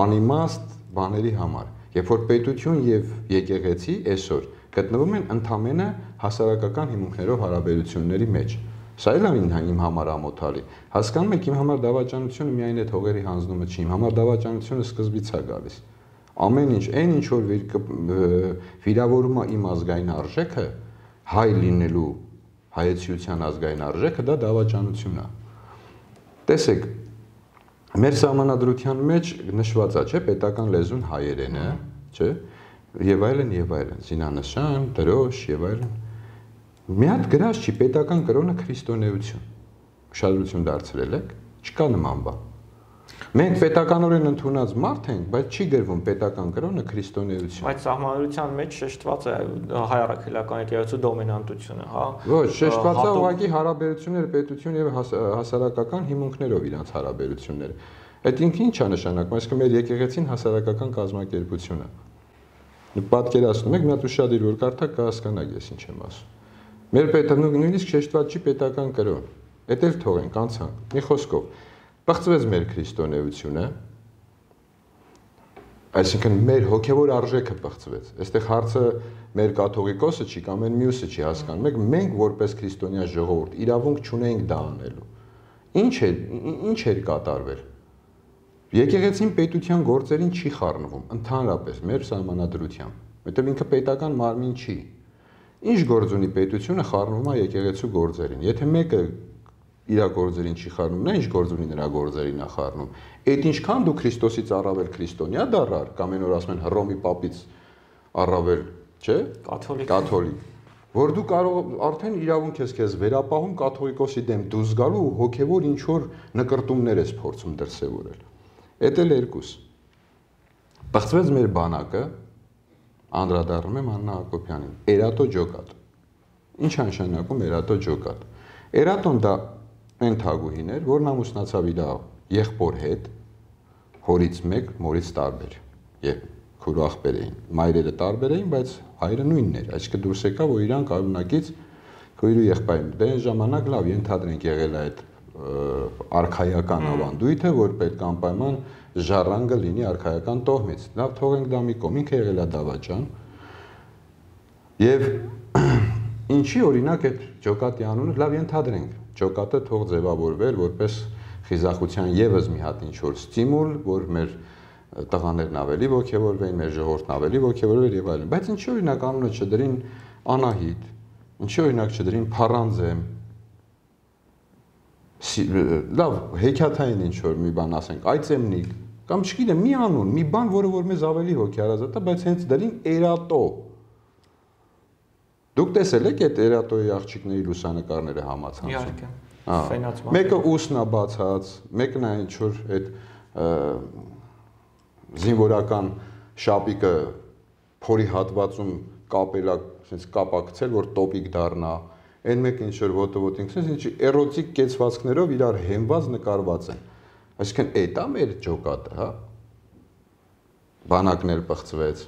անիմաստ բաների համար, երբ որ պետություն եւ եկեղեցի այսօր գտնվում են ընդամենը հասարակական հիմունքներով հարաբերությունների մեջ։ Սա էլ է իմ համար ամոթալի։ Հասկանում եք, իմ համար դավաճանությունը միայն այդ հողերի հանձնումը չի, իմ համար դավաճանությունը սկզբից է գալիս։ Ամեն ինչ, այն ինչ որ վիրավորում է իմ ազգային արժեքը, հայ լինելու հայեցիության ազգային արժեքը, դա դավաճանությունն է։ Տեսեք, մեր սահմանադրության մեջ նշված է, չէ, պետական լեզուն հայերենը, չէ, եւ այլն եւ այլն, զինանշան, դրոշ եւ այլն։ Մի հատ գրած չի պետական կրոնը քրիստոնեություն։ Ուշադրություն դարձրել եք, չկա նման բան։ Մենք պետականորեն ընդունած մարդ ենք, բայց չի գրվում պետական կրոնը քրիստոնեություն։ Բայց սահմանադրության մեջ շեշտված է հայ առաքելական եկեղեցու դոմինանտությունը, հա։ Ոչ, շեշտված է ուղղակի հարաբերությունները պետություն եւ հասարակական հիմունքներով իրանց հարաբերությունները։ Այդ ինքը ինչ է նշանակում, այսինքն մեր եկեղեցին հասարակական կազմակերպություն է։ Պատկերացնում եք, մի հատ ուշադիր որ կարդաք կհասկանաք ես ինչ եմ ասում։ Մեր պետական նույնիսկ շեշտված չի պետական կրոն։ Էդ էլ թողենք, անցանք։ Մի խոսքով, բացվեց մեր քրիստոնեությունը, այսինքն մեր հոգևոր արժեքը բացվեց։ Այստեղ հարցը մեր կաթողիկոսը չի կամ այն մյուսը չի հասկանում։ Մենք մենք որպես քրիստոնյա ժողովուրդ իրավունք չունենք դա անելու։ Ինչ է, ինչ էր կատարվել։ Եկեղեցին պետության գործերին չի խառնվում, ընդհանրապես մեր սահմանադրությամբ, որտեղ ինքը պետական մարմին չի։ Ինչ գործ ունի պետությունը խառնվում է եկեղեցու գործերին։ Եթե մեկը իր գործերին չի խառնում, նա ինչ գործ ունի նրա գործերին է խառնում։ Այդ ինչքան դու Քրիստոսից առավել քրիստոնյա դառար, կամ այն որ ասում են Հռոմի պապից առավել, չէ՞, կաթոլիկ։ Կաթոլիկ։ Որ դու կարող արդեն իրավունք ես քեզ վերապահում կաթողիկոսի դեմ դուրս գալու ու հոգևոր ինչ որ նկրտումներ ես փորձում դրսևորել։ Էդ էլ երկուս։ Բացվեց մեր բանակը, անդրադառնում եմ Աննա Հակոբյանին, Էրատո ջոկատ։ Ինչ է նշանակում Էրատո ջոկատ։ Էրատոն դա այն թագուհին էր, որն ամուսնացավ իր եղբոր հետ, հորից մեկ, մորից տարբեր։ Եվ քուրու աղբեր էին։ Մայրերը տարբեր էին, բայց հայրը նույնն էր, այսինքն դուրս եկավ, որ իրան կայունակից քույրու եղբայրն։ Դե այն ժամանակ լավ ենթադրենք եղել է այդ արխայական ավանդույթը, որ պետք է անպայման ժառանգը լինի արխայական տոհմից։ Լավ, թողենք դա մի կողմ, ինքը եղել է դավաճան։ Եվ ինչի օրինակ այդ ջոկատի անունը լավ ենթադրենք, ջոկատը թող ձևավորվել որպես խիզախության եւս մի հատ ինչ որ ստիմուլ, որ մեր տղաներն ավելի ոգևորվեն, մեր ժողովուրդն ավելի ոգևորվեր եւ այլն։ Բայց ինչի օրինակ անունը չդրին Անահիտ, ինչի օրինակ չդրին Փառանձեմ, լավ, հեքիաթային ինչ որ մի բան ասենք, Այծեմնիկ, կամ չգիտեմ, մի անուն, մի բան, որը որ մեզ ավելի հոգեարազատ է, բայց հենց դրին Էրատո։ Դուք տեսել եք այդ Էրատոյի աղջիկների լուսանկարները համացանցում։ Իհարկե։ Հա։ Մեկը ուսն է բացած, մեկն է ինչ որ այդ զինվորական շապիկը փորի հատվածում կապել է, ասես կապակցել, որ տոպիկ դառնա։ Այն մեկը ինչ որ ոտը ոտինք, ասես ինչ էրոտիկ կեցվածքներով իրար հենված նկարված են։ Այսինքն էդ է մեր ջոկատը, հա։ Բանակներ բացվեց։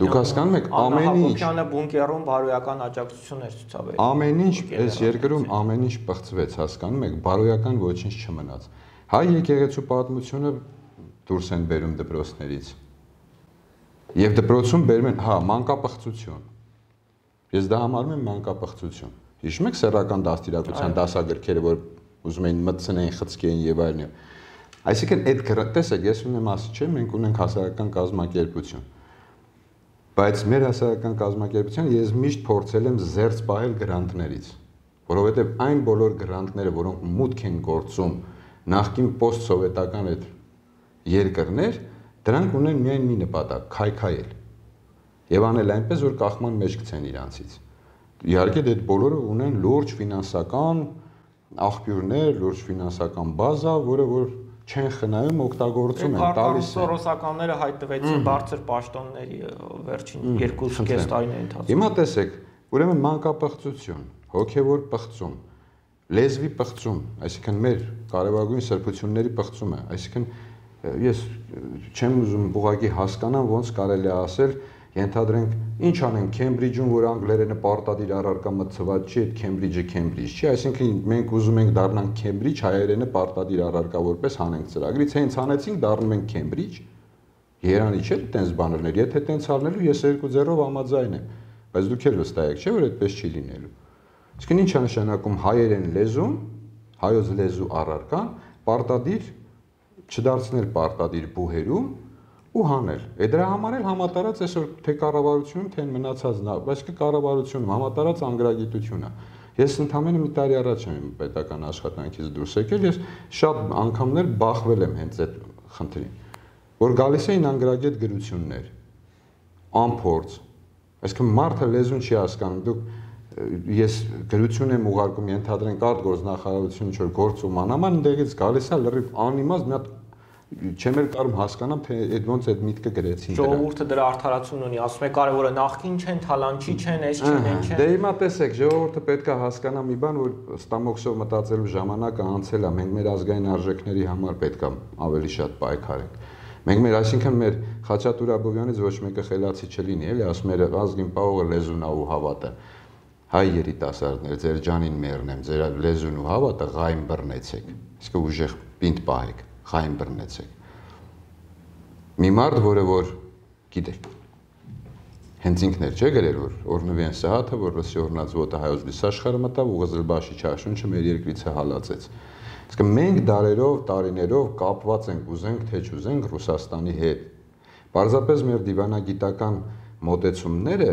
Դուք հասկանում եք, ամեն ինչ Հակոբյանը բունկերում բարոյական աջակցություն էր ցուցաբերել։ Ամեն ինչ այս երկրում ամեն ինչ բղծվեց, հասկանում եք, բարոյական ոչինչ չմնաց։ Հայ եկեղեցու պատմությունը դուրս են բերում դպրոցներից։ Եվ դպրոցում բերում են, հա, մանկապղծություն։ Ես դա համարում եմ մանկապղծություն։ Հիշում եք սեռական դաստիարակության դասագրքերը, որ ուզում էին մտցնեին, խցկեին եւ այլն։ Այսինքն այդ տեսեք, ես ունեմ ասի, չէ, մենք ունենք հասարակական կազմակերպություն։ Բայց մեր հասարակական կազմակերպության ես միշտ փորձել եմ զերծ պահել գրանտներից, որովհետև այն բոլոր գրանտները, որոնք մուտք են գործում նախկին պոստսովետական այդ երկրներ, դրանք ունեն միայն մի նպատակ՝ քայքայել եւ անել այնպես, որ կախման մեջ գցեն իրանցից։ Իհարկե այդ բոլորը ունեն լուրջ ֆինանսական աղբյուրներ, լուրջ ֆինանսական բազա, որը որ չեն խնայում, օգտագործում են, տալիս են։ Սորոսականները հայտնվեցին բարձր պաշտոնների վերջին երկու կես տարիների ընթացքում։ Հիմա տեսեք, ուրեմն մանկապղծություն, հոգևոր պղծում, լեզվի պղծում, այսինքն մեր կարևորագույն սրբությունների պղծումը, այսինքն ես չեմ ուզում ուղղակի հասկանամ ոնց կարելի է ասել, ենթադրենք ինչ անեն Քեմբրիջում, որ անգլերենը պարտադիր առարկա մտցված չի, այդ Քեմբրիջը Քեմբրիջ չի, այսինքն մենք ուզում ենք դառնանք Քեմբրիջ, հայերենը պարտադիր առարկա որպես հանենք ծրագրից, հենց հանեցինք, դառնում ենք Քեմբրիջ։ Երանի չէ՞ տենց բաներներ, եթե տենց արնելու ես երկու ձեռով համաձայն եմ, բայց դուք էլ վստահ եք, չէ՞ որ այդպես չի լինելու։ Իսկ ինչ է նշանակում հայերեն լեզուն, հայոց լեզու առարկան պարտադիր չդարձնել պարտադիր բուհերում ու հանել։ Է դրա համար էլ համատարած այսօր թե կառավարությունում, թե մնացած, բայց կառավարությունում համատարած անգրագիտություն է։ Ես ընդամենը մի տարի առաջ եմ պետական աշխատանքից դուրս եկել, ես շատ անգամներ բախվել եմ հենց այդ խնդրին, որ գալիս էին անգրագետ գրություններ, անփորձ, այսինքն մարդը լեզուն չի հասկանում, դուք ես գրություն եմ ուղարկում, ենթադրենք արտգործնախարարությունը ինչ-որ գործում անաման, ընդեղից գալիս է լրիվ անիմաստ մի հատ չեմ էլ կարող հասկանամ, թե այդ ոնց այդ միտքը գրեցին դրա։ Ժողովուրդը դրա արդարացումն ունի, ասում է կարևորը նախքին չեն, թալանչի չեն, այս չեն, այն չեն։ Դե հիմա տեսեք, ժողովուրդը պետք է հասկանա մի բան, որ ստամոքսով մտածելու ժամանակը անցել է, մենք մեր ազգային արժեքների համար պետք է ավելի շատ պայքարենք։ Մենք մեր, այսինքն մեր Խաչատուր Աբովյանից ոչ մեկը խելացի չլինի, էլի, ասում էր ազգին պահողը լեզուն ու հավատը։ Հայ երիտասարդներ, ձեր ջանին մեռնեմ, ձեր լեզուն ու հավատը ղայն բռնեցեք, իսկ ուժեղ պինդ պահեք, ղայն բռնեցեք։ Մի մարդ, որը որ գիտեք, հենց ինքն էր չէ գրել, որ օրնվի Սահաթը, որ ռուսի օրնած ոտը հայոց լիսաշխարհը մտավ ու Ղզլբաշի չաշունչը մեր երկրիցը հալածեց։ Իսկ մենք դարերով, տարիներով կապված ենք, ուզենք թե չուզենք Ռուսաստանի հետ։ Պարզապես մեր դիվանագիտական մոտեցումները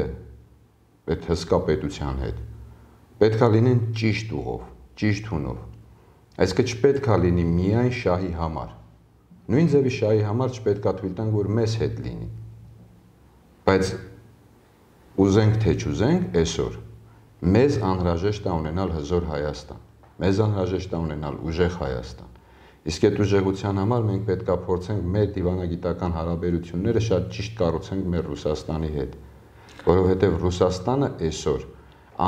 այդ հսկա պետության հետ պետք է լինեն ճիշտ ուղով, ճիշտ հունով։ Այսինքն չպետք է լինի միայն շահի համար։ Նույն ձևի շահի համար չպետք է թույլ տանք, որ մեզ հետ լինի։ Բայց ուզենք թե չուզենք, այսօր մեզ անհրաժեշտ է ունենալ հզոր Հայաստան, մեզ անհրաժեշտ է ունենալ ուժեղ Հայաստան։ Իսկ այդ ուժեղության համար մենք պետք է փորձենք մեր դիվանագիտական հարաբերությունները շատ ճիշտ կառուցենք մեր Ռուսաստանի հետ, որովհետև Ռուսաստանը այսօր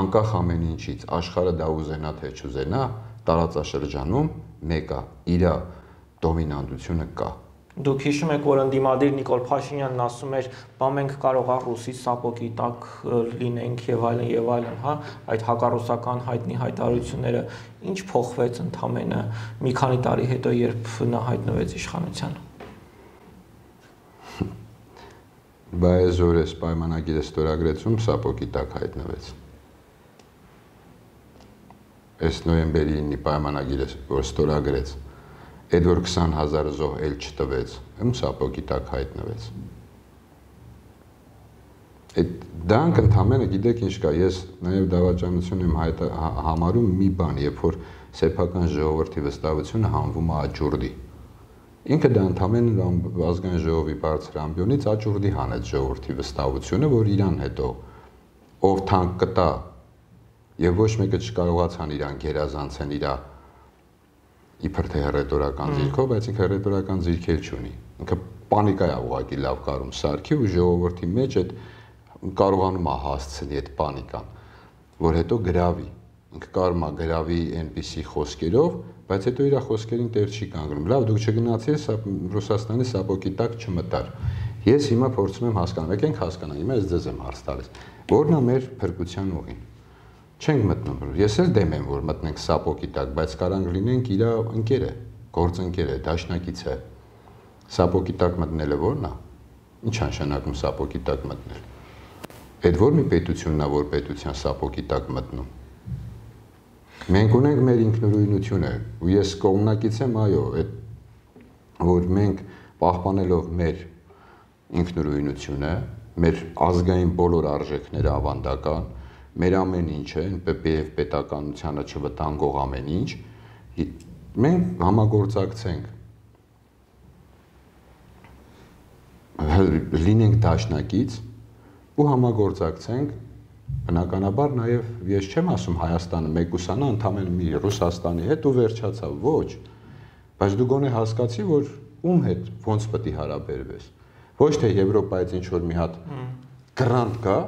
անկախ ամեն ինչից, աշխարհը դա ուզենա թե չուզենա, տարածաշրջանում մեկ է, իր դոմինանտությունը կա։ Դուք հիշում եք, որ ընդդիմադիր Նիկոլ Փաշինյանն ասում էր, բա մենք կարող է ռուսի սապոգի տակ լինենք եւ այլն եւ այլն, հա, այդ հակառուսական հայտնի հայտարարությունները ինչ փոխվեց ընդամենը մի քանի տարի հետո, երբ նա հայտնվեց իշխանության։ Բա այսօր պայմանագիրը ստորագրեցում սապոգի տակ հայտնվեց։ Այս նոյեմբերի ինը պայմանագիրը որ ստորագրեց, այդ որ քսան հազար զոհ էլ չտվեց, ում սապոգի տակ հայտնվեց։ Այդ դրանք ընդամենը գիտեք ինչ կա, ես նաև դավաճանություն եմ հայտ, համարում մի բան, երբ որ սեփական ժողովրդի վստահությունը հանվում է աճուրդի։ Ինքը դա ընդամենը ազգային ժողովի բարձր ամբիոնից աճուրդի հանեց ժողովրդի վստահությունը, որ իրան հետո ով թանկ կտա եւ ոչ մեկը չկարողացան իրան գերազանցեն իրա իբր թե հռետորական ձիրքով, բայց ինքը հռետորական ձիրքեր չունի։ Ինքը պանիկա է ուղղակի լավ կարում սարքի ու ժողովրդի մեջ այդ կարողանում է հասցնի այդ պանիկան, որ հետո գրավի։ Ինքը կարում է գրավի այնպիսի խոսքերով, բայց հետո իր խոսքերին տեր չի կանգնում։ Լավ, դուք չգնացիք Ռուսաստանի սապոգի տակ չմտար։ Ես հիմա փորձում եմ հասկանալ, եկենք հասկանանք, հիմա ես ձեզ եմ հարց տալիս, որն է մեր փրկության ուղին։ Չենք մտնում, ես էլ դեմ եմ, որ մտնենք սապոկի տակ, բայց կարանք լինենք իր ընկերը, գործընկերը, դաշնակից է։ Սապոկի տակ մտնելը ո՞րն է։ Ինչ նշանակում սապոկի տակ մտնել։ Այդ որ մի պետությունն է, որ պետության սապոկի տակ մտնում։ Մենք ունենք մեր ինքնուրույնությունը, ու ես կողմնակից եմ, այո, այդ որ մենք պահպանելով մեր ինքնուրույնությունը, մեր ազգային բոլոր արժեքները ավանդական, մեր ամեն ինչը, եւ պետականությանը չվտանգող ամեն ինչ, մենք համագործակցենք, լինենք դաշնակից ու համագործակցենք, բնականաբար նաև ես չեմ ասում Հայաստանը մեկուսանա ընդամենը մի Ռուսաստանի հետ ու վերջացավ, ոչ, բայց դու գոնե հասկացի, որ ում հետ ոնց պետք է հարաբերվես, ոչ թե Եվրոպայից ինչ որ մի հատ գրանտ կա,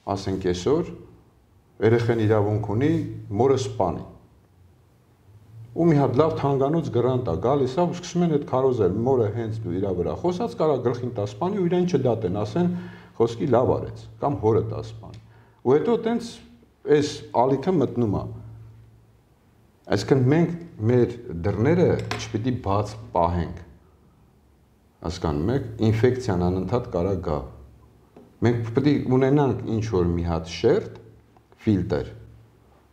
ասենք այսօր երեխան իրավունք ունի մորը սպանի, ու մի հատ լավ թանկանոց գրանտ է գալիս, ու սկսում են այդ քարոզել, մորը հենց դու իրա վրա խոսած կարա գլխին տա սպանի ու իրեն չդատեն, ասեն խոսքի լավ արեց, կամ հորը տա սպանի, ու հետո տենց այս ալիքը մտնում է, այսինքն մենք մեր դռները չպիտի բաց պահենք, հասկանում եք, ինֆեկցիան անընդհատ կարա գա, մենք պետք է ունենանք ինչ որ մի հատ շերտ, ֆիլտր,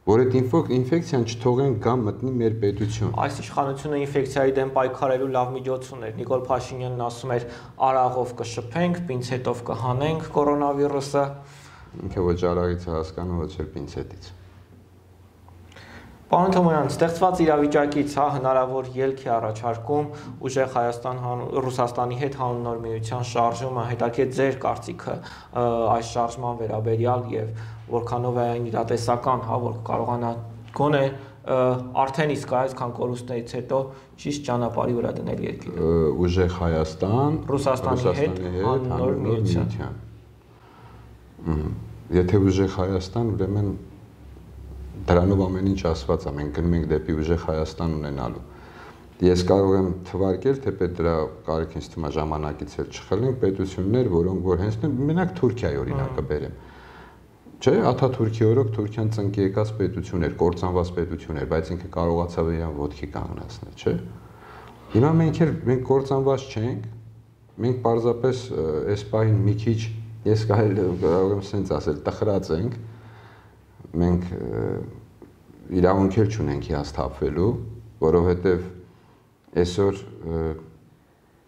որ այդ ինֆեկցիան չթողենք գա մտնի մեր պետություն։ Այս իշխանությունը ինֆեկցիայի դեմ պայքարելու լավ միջոց ուներ։ Նիկոլ Փաշինյանն ասում էր արաղով կշփենք, պինցետով կհանենք կորոնավիրուսը։ Ինքը ոչ արաղից է հասկանում, ոչ էլ պինցետից։ Պարոն Թոմոյան, ստեղծված իրավիճակից հա հնարավոր ելք է առաջարկում ուժեղ Հայաստան Ռուսաստանի հետ հանուն նոր միության շարժումը, հետաքրքիր ձեր կարծիքը այս շարժման վերաբերյալ եւ որքանով է այն իրատեսական, հա, որ կարողանա գոնե արդեն իսկ այսքան կորուստներից հետո ճիշտ ճանապարհի վրա դնել երկիրը։ Ուժեղ Հայաստան Ռուսաստանի հետ հանուն նոր միության։ Եթե ուժեղ Հայաստան, ուրեմն դրանով ամեն ինչ ասված է, մենք գնում ենք դեպի ուժեղ Հայաստան ունենալու։ Ես կարող եմ թվարկել, թե պետք դրա կարիք ինձ թվում է ժամանակից էլ չխլենք պետություններ, որոնք որ հենց մենակ Թուրքիայի օրինակը բերեմ։ Չէ, Աթաթուրքի օրոք Թուրքիան ծնկի եկած պետություն էր, կործանված պետություն էր, բայց ինքը կարողացավ իրան ոտքի կանգնացնել, չէ։ Հիմա մենք էլ մենք կործանված չենք, մենք պարզապես այս պահին մի քիչ, ես կարող եմ սենց ասել, տխրած ենք, մենք իրավունք էլ չունենք հիասթափվելու, որովհետև այսօր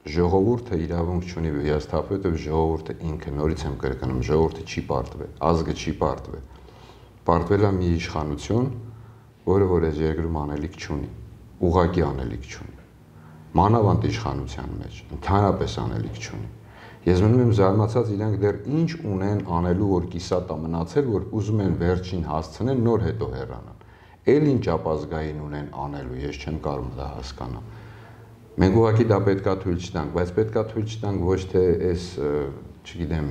ժողովուրդը իրավունք չունի հիասթափվել, որովհետև ժողովուրդը ինքը, նորից եմ կրկնում, ժողովուրդը չի պարտվել, ազգը չի պարտվել։ Պարտվել է մի իշխանություն, որը որ այս երկրում անելիք չունի, ուղղակի անելիք չունի։ Մանավանդ իշխանության մեջ, ընդհանրապես անելիք չունի։ Ես մնում եմ զարմացած իրանք դեռ ինչ ունեն անելու, որ կիսատ է մնացել, որ ուզում են վերջին հասցնեն, նոր հետո հեռանան։ Էլ ինչ ապազգային ունեն անելու, ես չեմ կարող դա հասկանալ։ Մենք ուղղակի դա պետքա թույլ չտանք, բայց պետքա թույլ չտանք ոչ թե այս, չգիտեմ,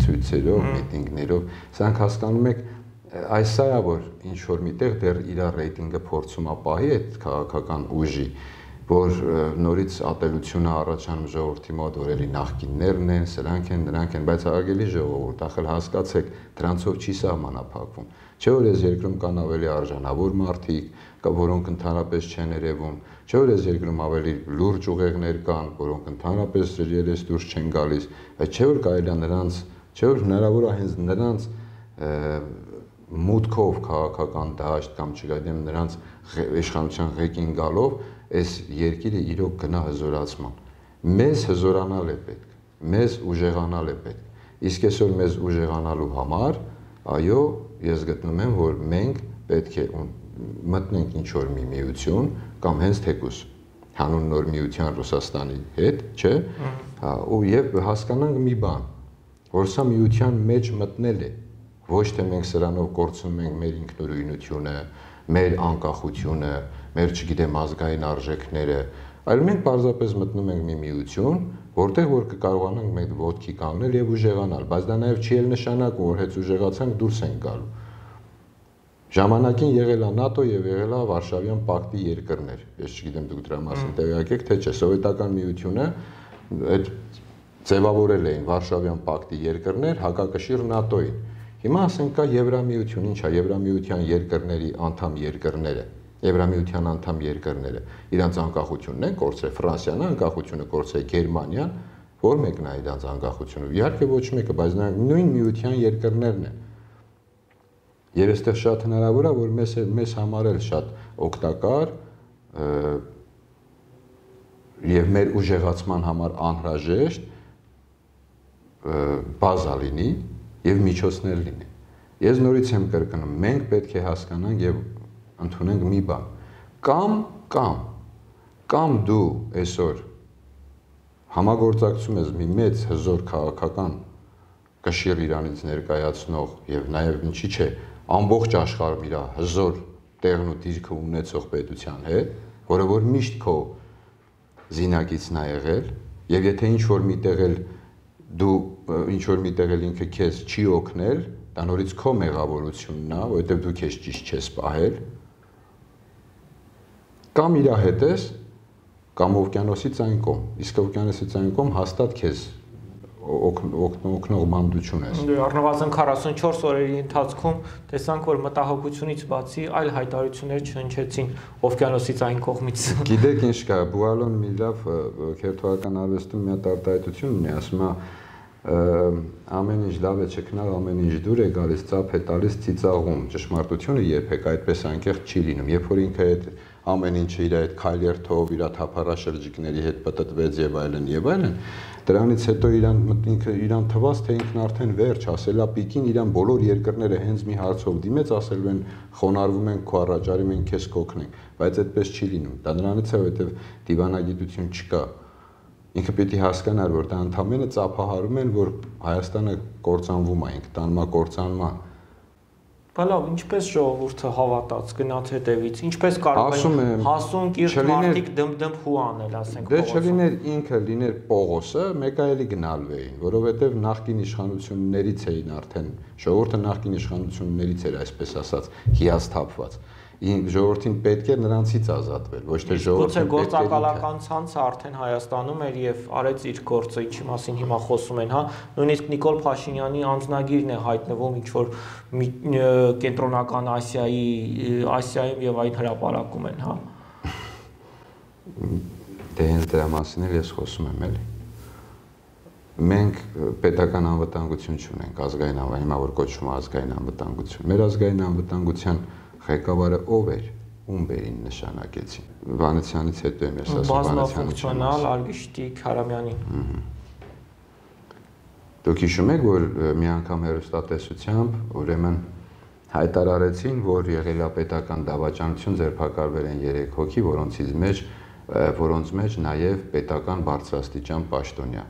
ցույցերով, միտինգներով, սրանք հասկանում եք, այս սա է, որ ինչ որ միտեղ դեռ իր ռեյտինգը փորձում է պահի այդ քաղաքական ուժի, որ նորից ատելությունը առաջանում ժողովրդի մոտ, որ էլի նախկիններն են, սրանք են, նրանք են, բայց արգելի ժողովուրդ, ախր հասկացեք, դրանցով չի սահմանափակվում։ Չէ՞ որ այս երկրում կան ավելի արժանավոր մարդիկ, որոնք ընդհանրապես չեն երևում, չէ՞ որ այս երկրում ավելի լուրջ ուղեղներ կան, որոնք ընդհանրապես երես դուրս չեն գալիս, բայց չէ՞ որ կարելի է նրանց, չէ՞ որ հնարավոր է հենց նրանց մուտքով քաղաքական դաշտ կամ չգիտեմ նրանց իշխանության ղեկին գալով այս երկիրը իրոք գնա հզորացման։ Մեզ հզորանալ է պետք, մեզ ուժեղանալ է պետք։ Իսկ այսօր մեզ ուժեղանալու համար, այո, ես գտնում եմ, որ մենք պետք է մտնենք ինչ-որ մի միություն կամ հենց թեկուզ հանուն նոր միության Ռուսաստանի հետ, չէ՞, ու եւ հասկանանք մի բան, որ սա միության մեջ մտնել է, ոչ թե մենք սրանով կորցնում ենք մեր ինքնուրույնությունը, մեր անկախությունը, մեր չգիտեմ ազգային արժեքները, այլ մենք պարզապես մտնում ենք մի միություն, որտեղ որ կկարողանանք մենք ոտքի կանգնել եւ ուժեղանալ, բայց դա նաեւ չի էլ նշանակում, որ հեծ ուժեղացանք դուրս ենք գալու։ Ժամանակին եղել է ՆԱՏՕ եւ եղել է Վարշավյան պակտի երկրներ։ Ես չգիտեմ դուք դրա մասին տեղյակ եք, թե չէ, սովետական միությունը այդ ձևավորել էին Վարշավյան պակտի երկրներ հակակշիռ ՆԱՏՕ-ին։ Հիմա ասենք կա Եվրամիություն, ինչ է Եվրամիության երկրների անդամ երկրները, Եվրամիության անդամ երկրները, իրանց անկախությունն են կորցրել, Ֆրանսիան անկախությունը կորցրել, Գերմանիան, որ մեկն է իրանց անկախությունը։ Իհարկե ոչ մեկը, բայց նրանք նույն միության երկրներն են։ Եվ այստեղ շատ հնարավոր է, որ մեզ մեզ համար էլ շատ օգտակար եւ մեր ուժեղացման համար անհրաժեշտ բազա լինի եւ միջոցներ լինի։ Ես նորից եմ կրկնում, մենք պետք է հասկանանք եւ ընդունենք մի բան։ Կամ կամ կամ դու այսօր համագործակցում ես մի մեծ հզոր քաղաքական կշիռ Իրանից ներկայացնող եւ նաեւ ինչի՞ չէ ամբողջ աշխարհում իր հզոր տեղն ու դիրքը ունեցող պետության հետ, որը որ միշտ քո զինակիցն է եղել, եւ եթե ինչ որ միտեղ էլ դու ինչ որ միտեղ էլ ինքը քեզ չի օգնել, դա նորից քո մեղավորությունն է, որովհետեւ դու քեզ ճիշտ չես պահել, կամ իր հետ ես, կամ օվկիանոսից այն կողմ, իսկ օվկիանոսից այն կողմ հաստատ քեզ օգնող մանդություն ես։ Առնվազն քառասունչորս օրերի ընթացքում տեսանք, որ մտահոգությունից բացի այլ հայտարարություններ չհնչեցին օվկիանոսից այն կողմից։ Գիտեք ինչ կա, Բուալոն մի լավ քերթվական արվեստում մի հատ արտահայտություն ունի, ասում է ամեն ինչ լավ է չքնալ, ամեն ինչ դուր է գալիս, ծափ է տալիս ծիծաղում։ Ճշմարտությունը երբեք այդպես անկեղծ չի լինում։ Երբ որ ինքը այդ ամեն ինչը իր այդ քայլերթով, իր թափառաշրջիկների հետ պատտվեց եւ այլն եւ այլն, դրանից հետո իրան ինքը իրան թվաց, թե ինքն արդեն վերջ, ասելա պիկին իրան բոլոր երկրները հենց մի հարցով դիմեց, ասելու են խոնարհվում են քո առաջարի, մենք քեզ կօգնենք, բայց այդպես չի լինում։ Դա նրանից է, որովհետեւ դիվանագիտություն չկա։ Ինքը պիտի հասկանար, որ դա ընդամենը ծափահարում են, որ Հայաստանը կործանվում է, ինքը տանում է կործանման։ Բա լավ, ինչպես ժողովուրդը հավատաց, գնաց հետևից, ինչպես կարող են հասուն կիրթ մարդիկ դմդմ հու անել, ասենք։ Դե չլիներ ինքը, լիներ Պողոսը, մեկ այլի գնալվեին, որովհետև նախկին իշխանություններից էին արդեն, ժողովուրդը նախկին իշխանություններից էր, այսպես ասած, հիասթափված։ Ժողովրդին պետք է նրանցից ազատվել, ոչ թե ժողովրդին պետք է։ Գուցե գործակալական ցանցը արդեն Հայաստանում էր եւ արեց իր գործը, ինչի մասին հիմա խոսում են, հա։ Նույնիսկ Նիկոլ Փաշինյանի անձնագիրն է հայտնվում ինչ որ կենտրոնական Ասիայի, Ասիայում եւ այն հրապարակում են, հա։ Դե հենց դրա մասին էլ ես խոսում եմ, էլի։ Մենք պետական անվտանգություն չունենք, ազգային անվտանգություն, հիմա որ կոչվում է ազգային անվտանգություն։ Մեր ազգային անվտանգության ղեկավարը ով էր, ում բերին նշանակեցին։ Վանեցյանից հետո եմ ես ասում բազմաֆունկցիոնալ Արգիշտիկ Հարամյանին։ Դուք հիշում եք, որ մի անգամ հեռուստատեսությամբ ուրեմն հայտարարեցին, որ եղել է պետական դավաճանություն, ձերբակալվել են երեք հոգի, որոնցից մեջ որոնց մեջ նաև պետական բարձրաստիճան պաշտոնյա։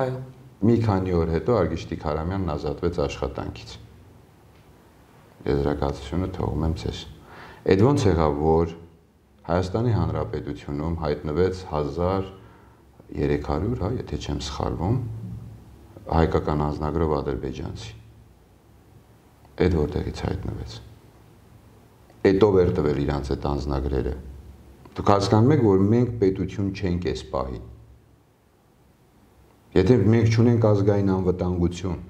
Այո։ Մի քանի օր հետո Արգիշտիկ Հարամյանն ազատվեց աշխատանքից։ Եզրակացությունը թողում եմ ձեզ։ Այդ ոնց եղավ, որ Հայաստանի Հանրապետությունում հայտնվեց հազար երեք հարյուր, հա, եթե չեմ սխալվում, հայկական անձնագրով ադրբեջանցի։ Այդ որտեղից հայտնվեց։ Այդ ով էր տվել իրանց այդ անձնագրերը։ Դուք հասկանում եք, որ մենք պետություն չենք այս պահին։ Եթե մենք չունենք ազգային անվտանգություն,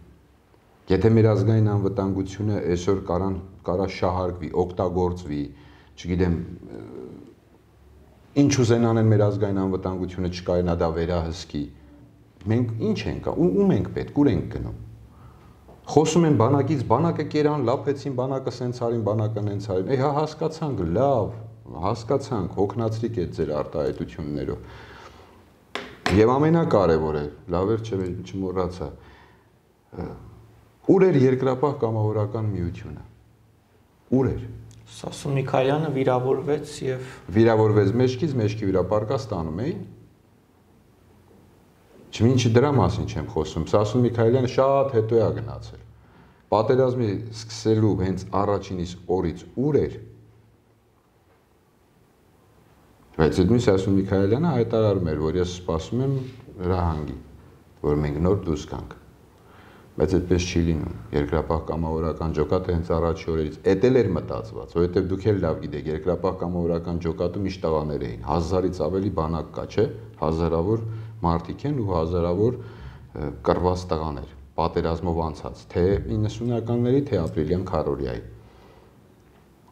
եթե մեր ազգային անվտանգությունը այսօր կարան կարա շահարկվի, օգտագործվի, չգիտեմ, ինչ ուզեն անեն մեր ազգային անվտանգությունը չկարենա դա վերահսկի, մենք ինչ ենք, ում ենք պետք, ուր ենք գնում։ Խոսում են բանակից, բանակը կերան, լափեցին, բանակը սենց արին, բանակը նենց արին։ Էй, հա հասկացանք, լավ, հասկացանք, հոգնածրիկ է ձեր արտահայտություններով։ Եվ ամենակարևորը, լավ էր, չէ, չմոռացա։ Ուր էր երկրապահ կամավորական միությունը։ Ուր էր։ Սասուն Միքայելյանը վիրավորվեց եւ վիրավորվեց մեջքից, մեջքի վրա պարկաս տանում էին։ Չմինչի դրա մասին չեմ խոսում։ Սասուն Միքայելյանը շատ հետո է գնացել։ Պատերազմի սկսելու հենց առաջինից օրից ուր էր։ Բայց այդ նույն Սասուն Միքայելյանը հայտարարում էր, որ ես սպասում եմ հրահանգի, որ մենք նոր դուրս գանք։ Բայց այդպես չի լինում։ Երկրապահ կամավորական ջոկատը հենց առաջի օրերից էդ էլ էր մտածված, որովհետև դուք էլ լավ գիտեք, երկրապահ կամավորական ջոկատում իշտաղաներ էին, հազարից ավելի բանակ կա, չէ՞, հազարավոր մարդիկ են ու հազարավոր կռված տղաներ, պատերազմով անցած, թե իննսունականների, թե ապրիլյան քարորիայի։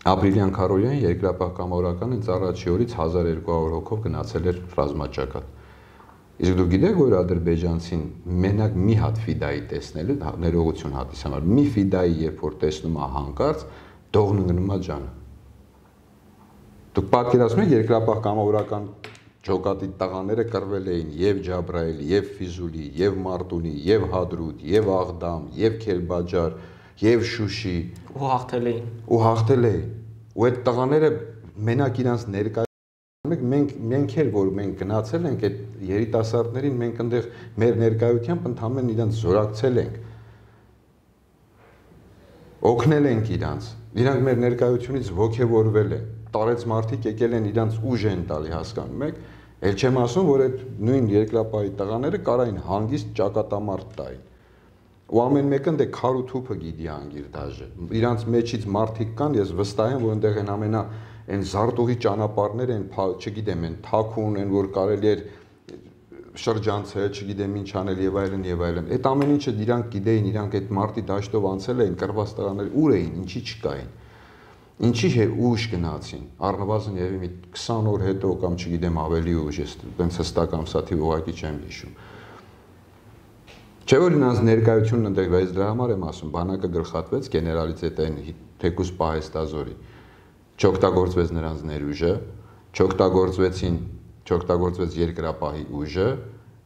Ապրիլյան քարորիային երկրապահ կամավորական հենց առաջի օրից հազար երկու հարյուր հոգով գնացել էր ռազմաճակատ։ Իսկ դու գիտեք, որ ադրբեջանցին մենակ մի հատ ֆիդայի տեսնելու ներողություն հատիս համար, մի ֆիդայի երբ որ տեսնում է հանկարծ, դողն ընկնում է ջանը։ Դուք պատկերացնում եք երկրապահ կամավորական ջոկատի տղաները կռվել էին եւ Ջաբրայելի, եւ Ֆիզուլի, եւ Մարտունի, եւ Հադրուտ, եւ Աղդամ, եւ Քելբաջար, եւ Շուշի ու հաղթել էին։ Ու հաղթել էին։ Ու այդ տղաները մենակ իրանց ներկայ Մենք մենք էլ որ մենք գնացել ենք այդ երիտասարդներին, մենք այնտեղ մեր ներկայությամբ ընդհանրեն իրանց զորակցել ենք։ Օգնել ենք իրանց։ Իրանք մեր ներկայությունից ողջևորվել են։ Տարեց մարդիկ եկել են իրանց ուժ են տալի, հասկանում եք։ Էլ չեմ ասում, որ այդ նույն երկրապահի տղաները կարային հանգիստ ճակատամարտ տային։ Ու ամեն մեկը դե քար ու թուփը գիտի անգիր դաժե։ Իրանց մեջից մարդիկ կան, ես վստահ եմ, որ այնտեղ են ամենա Այն զարտուղի ճանապարհներ են, չգիտեմ, են թաքուն են, որ կարելի էր շրջանցել, չգիտեմ ինչ անել եւ այլն եւ այլն։ Այդ ամեն ինչը իրանք գիտեին, իրանք այդ մարտի դաշտով անցել էին, կռված տղաներ ուր էին, ինչի չկային։ Ինչի է ուժ գնացին։ Առնվազն եւի մի քսան օր հետո կամ չգիտեմ ավելի ուժ, ես տենց հստակ ամսաթիվ ուղղակի չեմ հիշում։ Չէ՞ որ իրանց ներկայությունն ընդեղ, բայց դրա համար եմ ասում, բանակը գլխատվեց գեներալից հետ այն թեկուս պահեստազորի չօգտագործվեց նրանց ներուժը, չօգտագործվեցին, չօգտագործվեց երկրապահի ուժը,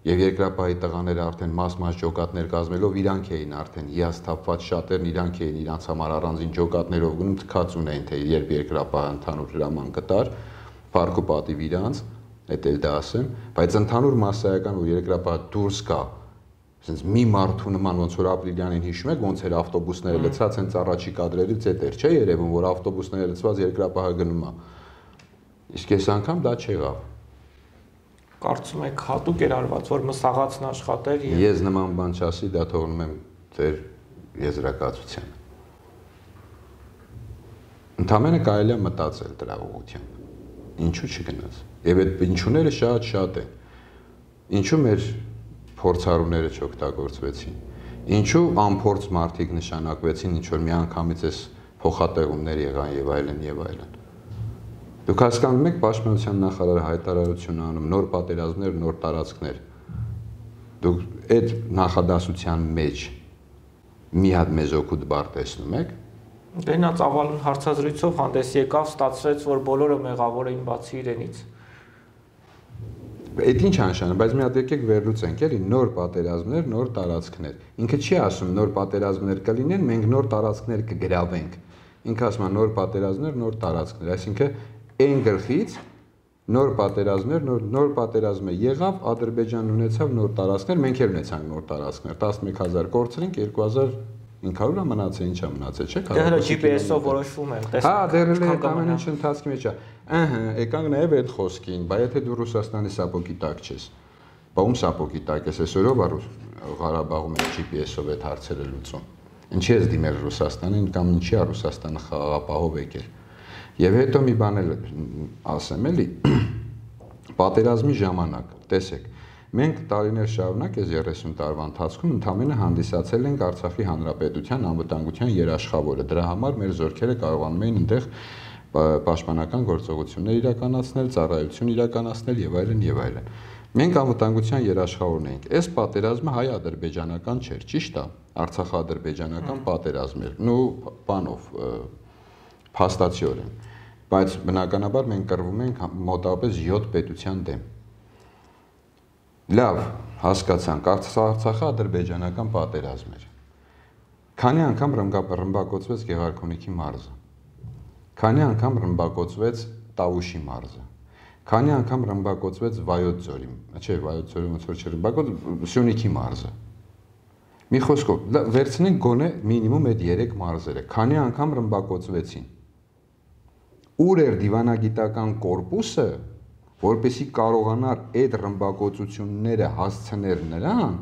եւ երկրապահի տղաները արդեն մաս-մաս ջոկատներ կազմելով իրանք էին արդեն հիասթափված շատերն իրանք էին իրանց համար առանձին ջոկատներով գնում թքած ունեին, թե երբ երկրապահը ընդհանուր հրաման կտար, փառք ու պատիվ իրանց, էդ էլ դա ասեմ, բայց ընդհանուր մասսայական ու երկրապահը դուրս կա Sense մի մարդու նման ոնց որ ապրիլյանին հիշում եք ոնց էր ավտոբուսները լցած հենց առաջի կադրերից էդ էր չէ երևում որ ավտոբուսները լցված երկրապահը գնում է իսկ այս անգամ դա չեղավ Կարծում եք հատուկ էր արված որ մսաղացն աշխատեր եւ Ես նման բան չասի դա թողնում եմ ձեր եզրակացությանը Ընդամենը կարելի է մտածել դրա ուղղությամբ ինչու չգնաց եւ այդ ինչուները շատ-շատ են ինչու մեր փորձառուները չօգտագործվեցին։ Ինչու անփորձ մարդիկ նշանակվեցին, ինչ որ միանգամից էս փոխատեղումներ եղան եւ այլն եւ այլն։ Դուք հասկանում եք Պաշտպանության նախարարը հայտարարություն անում նոր պատերազմներ, նոր տարածքներ։ Դուք այդ նախադասության մեջ մի հատ մեզ օգուտ բար տեսնում եք։ Դե նա ծավալուն հարցազրույցով հանդես եկավ, ստացվեց, որ բոլորը մեղավոր էին բացի իրենից։ Այդ ինչ անշան, բայց մի հատ եկեք վերլուծենք, էլի նոր պատերազմներ, նոր տարածքներ։ Ինքը չի ասում նոր պատերազմներ կլինեն, մենք նոր տարածքներ կգրավենք։ Ինքը ասում է նոր պատերազմներ, նոր տարածքներ, այսինքն այն գլխից նոր պատերազմներ, նոր նոր պատերազմը եղավ, Ադրբեջանն ունեցավ նոր տարածքներ, մենք էլ ունեցանք նոր տարածքներ, տասնմեկ հազար կորցրինք, երկու հազար ինը հարյուր մնացել, ինչա մնացել, չէ՞։ Դե հələ G P S-ով որոշվում է, տեսնենք։ Հա, դեռ էլ այդ ամեն ինչ ընթացքի մեջ է։ Ահա, եկանք նաև այդ խոսքին, բայց եթե դու Ռուսաստանի սապոգի տակ ես, բա ում սապոգի տակ ես, այսօրով Ղարաբաղում է G P S-ով այդ հարցերը լուծում։ Ինչի ես դիմել Ռուսաստանին կամ ինչի է Ռուսաստանը խաղաղապահով եկել։ Եվ հետո մի բան էլ ասեմ, էլի, պատերազմի ժամանակ, տեսեք, մենք տարիներ շարունակ այս երեսուն տարվա ընթացքում ընդամենը հանդիսացել ենք Արցախի Հանրապետության անվտանգության երաշխավորը։ Դրա համար մեր զորքերը կարողանում էին այնտեղ պաշտպանական գործողություններ իրականացնել, ծառայություն իրականացնել եւ այլն եւ այլն։ Մենք անվտանգության երաշխավորն էինք։ Այս պատերազմը հայ-ադրբեջանական չէր, ճիշտ է, Արցախա-ադրբեջանական պատերազմ էր։ Նու բանով փաստացիորեն, բայց բնականաբար մենք կռվում ենք մոտավորապես յոթ պետության դեմ։ Լավ, հասկացանք, Արցախը ադրբեջանական պատերազմ էր։ Քանի անգամ ռմբակոծվեց Գեղարքունիքի մարզը։ Քանի անգամ ռմբակոծվեց Տավուշի մարզը։ Քանի անգամ ռմբակոծվեց Վայոց ձորի, չէ, Վայոց ձորի ոնց որ չռմբակոծ Սյունիքի մարզը։ Մի խոսքով, վերցնենք գոնե մինիմում այդ երեք մարզերը։ Քանի անգամ ռմբակոծվեցին։ Ուր էր դիվանագիտական կորպուսը, որպեսզի կարողանար այդ ռմբակոծությունները հասցնել նրան,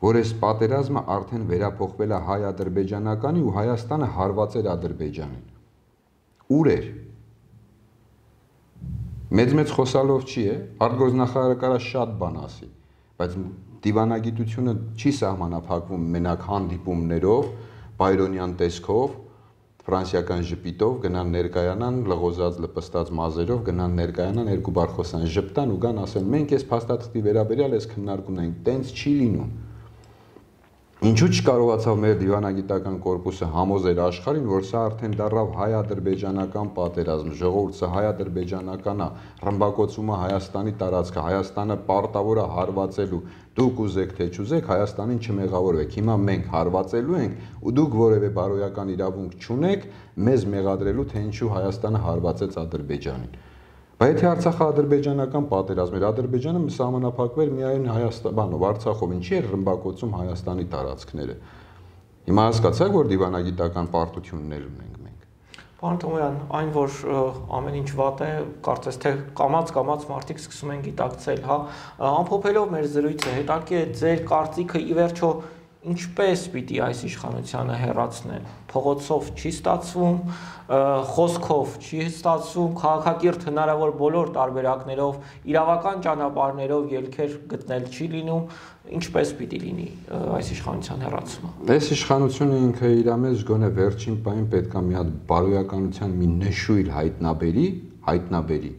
որ այս պատերազմը արդեն վերափոխվել է հայ-ադրբեջանականի ու Հայաստանը հարվածել Ադրբեջանին։ Ուր էր։ Մեծ-մեծ խոսալով չի է, արտգործնախարարը կարա շատ բան ասի, բայց դիվանագիտությունը չի սահմանափակվում մենակ հանդիպումներով, բայրոնյան տեսքով, ֆրանսիական ժպիտով գնան ներկայանան լղոզած լպստած մազերով գնան ներկայանան երկու բառ խոսան ժպտան ու գան ասեն մենք այս փաստաթղթի վերաբերյալ այս քննարկումն ենք տենց չի լինում ինչու չկարողացավ մեր դիվանագիտական կորպուսը համոզել աշխարհին որ սա արդեն դառավ հայ-ադրբեջանական պատերազմ ժողովուրդ սա հայ-ադրբեջանական է ռմբակոծումը Հայաստանի տարածքը Հայաստանը պարտավոր է հարվածելու դուք ուզեք թե չուզեք Հայաստանին չմեղավորվեք հիմա մենք հարվածելու ենք ու դուք որևէ բարոյական իրավունք չունեք մեզ մեղադրելու թե ինչու Հայաստանը հարվածեց Ադրբեջանին բայց եթե Արցախը ադրբեջանական պատերազմ էր Ադրբեջանը սահմանափակվեր միայն Հայաստանով Արցախով ինչի էր ռմբակոծում Հայաստանի տարածքները հիմա հասկացաք որ դիվանագիտական պարտություններ ունենք մենք Պարոն Թոմոյան այն որ ամեն ինչ վատ է կարծես թե կամած կամած մարդիկ սկսում են գիտակցել հա ամփոփելով մեր զրույցը հետաքրքիր է ձեր կարծիքը ի վերջո Ինչպես պիտի այս իշխանությունը հեռացնեն փողոցով չի ստացվում խոսքով չի ստացվում քաղաքակիրթ հնարավոր բոլոր տարբերակներով իրավական ճանապարհներով ելքեր գտնել չի լինում ինչպես պիտի լինի այս իշխանության հեռացումը Այս իշխանությունը ինքը իր մեջ գոնե վերջին պահին պետք է մի հատ բարոյականության մի նշույլ հայտնաբերի հայտնաբերի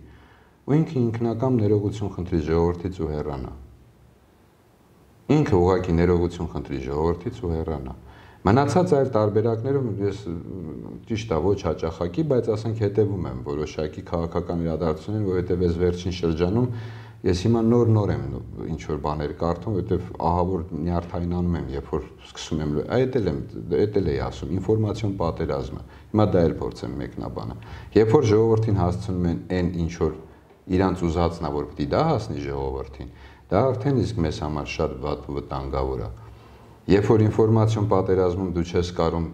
ու ինքը ինքնական ներողություն խնդրի ժողովրդից ու հեռանա Ինքը ուղղակի ներողություն խնդրի ժողովրդից ու հեռանա։ Մնացած այլ տարբերակներում ես ճիշտ է ոչ հաճախակի, բայց ասենք հետևում եմ որոշակի քաղաքական իրադարձություններին, որովհետև ես վերջին շրջանում ես հիմա նոր-նոր եմ ինչ որ բաներ կարդում, որովհետև ահա որ նյարդայնանում եմ, երբ որ սկսում եմ, այդ էլ եմ, այդ էլ էի ասում, ինֆորմացիոն պատերազմը։ Հիմա դա էլ փորձեմ մեկնաբանը։ Երբ որ ժողովրդին հասցնում են այն ինչ որ իրանց ուզածն է, որ պիտի դա հասնի ժողովրդին, Դա արդեն իսկ մեզ համար շատ վատ ու վտանգավոր է։ Երբ որ ինֆորմացիոն պատերազմում դու չես կարող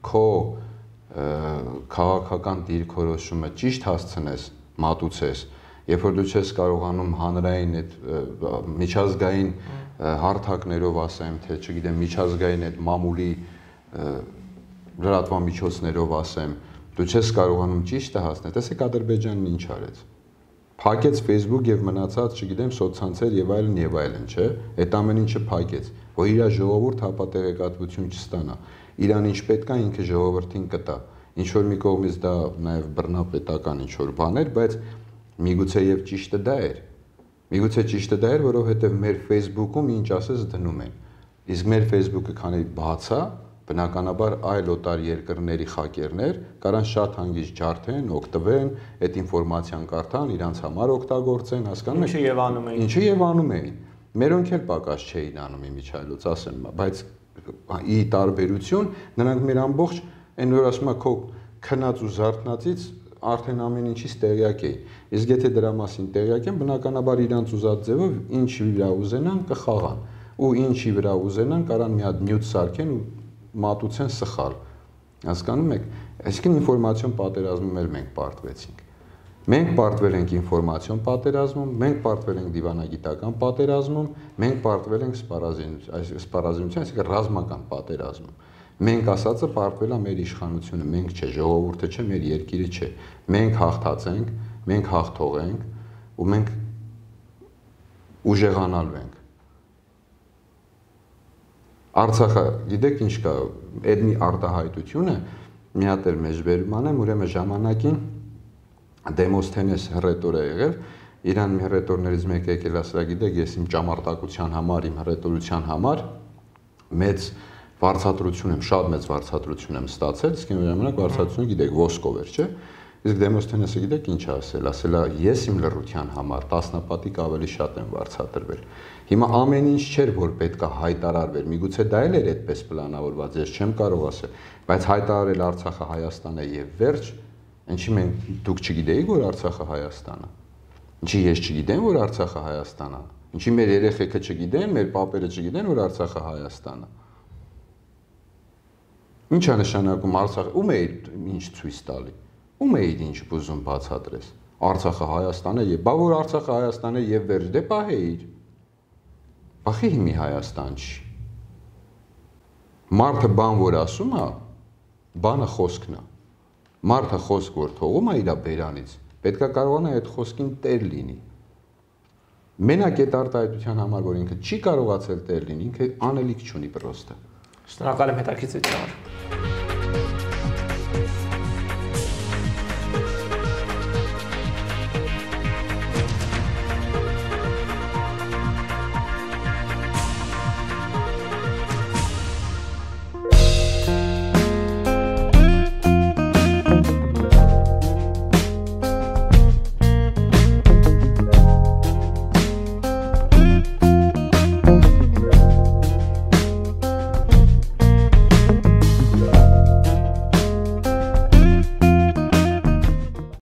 քո քաղաքական դիրքորոշումը ճիշտ հասցնես, մատուցես, երբ որ դու չես կարողանում հանրային այդ միջազգային հարթակներով ասեմ, թե չգիտեմ, միջազգային այդ մամուլի լրատվամիջոցներով ասեմ, դու չես կարողանում ճիշտը հասնել, տեսեք Ադրբեջանն ինչ արեց։ Փակեց Facebook եւ մնացած, չգիտեմ, սոցցանցեր եւ այլն եւ այլն, չէ՞։ Այդ ամեն ինչը փակեց, որ իր ժողովուրդ հապատեղեկատվություն չստանա։ Իրան ինչ պետք է ինքը ժողովրդին կտա։ Ինչ որ մի կողմից դա նաեւ բռնապետական ինչ որ բան էր, բայց միգուցե եւ ճիշտը դա էր։ Միգուցե ճիշտը դա էր, որովհետեւ մեր Facebook-ում ինչ ասես դնում են։ Իսկ մեր Facebook-ը քանի բաց է, բնականաբար այլ օտար երկրների խակերներ կարան շատ հանգիստ ջարդեն, օգտվեն, այդ ինֆորմացիան կարդան, իրանց համար օգտագործեն, հասկանում եք։ Ինչը եւ անում էին։ Ինչը եւ անում էին։ Մերոնք էլ պակաս չէին անում իմիջայլոց, ասեմ, բայց ի տարբերություն նրանք մեր ամբողջ այն որ ասում է քո քնած ու զարթնածից արդեն ամեն ինչից տեղյակ էի։ Իսկ եթե դրա մասին տեղյակ են, բնականաբար իրանց ուզած ձևով ինչ վրա ուզենան կխաղան, ու ինչի վրա ուզենան կարան մի հատ նյութ սարքեն ու մատուցեն սխալ, հասկանում եք, այսինքն ինֆորմացիոն պատերազմում էլ մենք պարտվեցինք, մենք պարտվել ենք ինֆորմացիոն պատերազմում, մենք պարտվել ենք դիվանագիտական պատերազմում, մենք պարտվել ենք սպառազինության, այսինքն ռազմական պատերազմում, մենք ասածը պարտվել է մեր իշխանությունը, մենք չէ, ժողովուրդը չէ, մեր երկիրը չէ, մենք հաղթացենք, մենք հաղթող ենք ու մենք ուժեղանալու ենք Արցախը, գիտեք ինչ կա, այդ մի արտահայտությունը մի հատ էլ մեջբերում անեմ, ուրեմն ժամանակին Դեմոսթենես հռետոր է եղել, իրան մի հռետորներից մեկը եկել ասել, գիտեք, ես իմ ճամարտակության համար, իմ հռետորության համար մեծ վարձատրություն եմ, շատ մեծ վարձատրություն եմ ստացել, իսկ այն ժամանակ վարձատրությունը գիտեք, ոսկով էր, չէ՞։ Իսկ Դեմոսթենեսը գիտեք ինչ ասել, ասել է ես իմ լռության համար տասնապատիկ ավելի շատ եմ վարձատրվել։ Հիմա ամեն ինչ չէր որ պետք է հայտարարվեր, միգուցե դա էլ էր այդպես պլանավորված, ես չեմ կարող ասել, բայց հայտարարել Արցախը Հայաստան է եւ վերջ, ինչի մենք դուք չգիտեիք որ Արցախը Հայաստան է։ Ինչի ես չգիտեմ որ Արցախը Հայաստան է։ Ինչի մեր երեխեքը չգիտեն, մեր պապերը չգիտեն որ Արցախը Հայաստան է։ Ինչ է նշանակում Արցախը, ում է ինչ ցույց տալի։ Ում է ինչ բուզում բացատրես։ Արցախը Հայաստան է եւ բա որ Արցախը Հայաստան է եւ վերջ դե պահեիր։ Բախի հիմի Հայաստան չի։ Մարդը բան որ ասում է, բանը խոսքն է։ Մարդը խոսք որ թողում է իր բերանից, պետք է կարողանա այդ խոսքին տեր լինի։ Մենակ այդ արտահայտության համար, որ ինքը չի կարողացել տեղ լինի, ինքը անելիք չունի պրոստը։ Շնորհակալ եմ հետաքրքրության համար։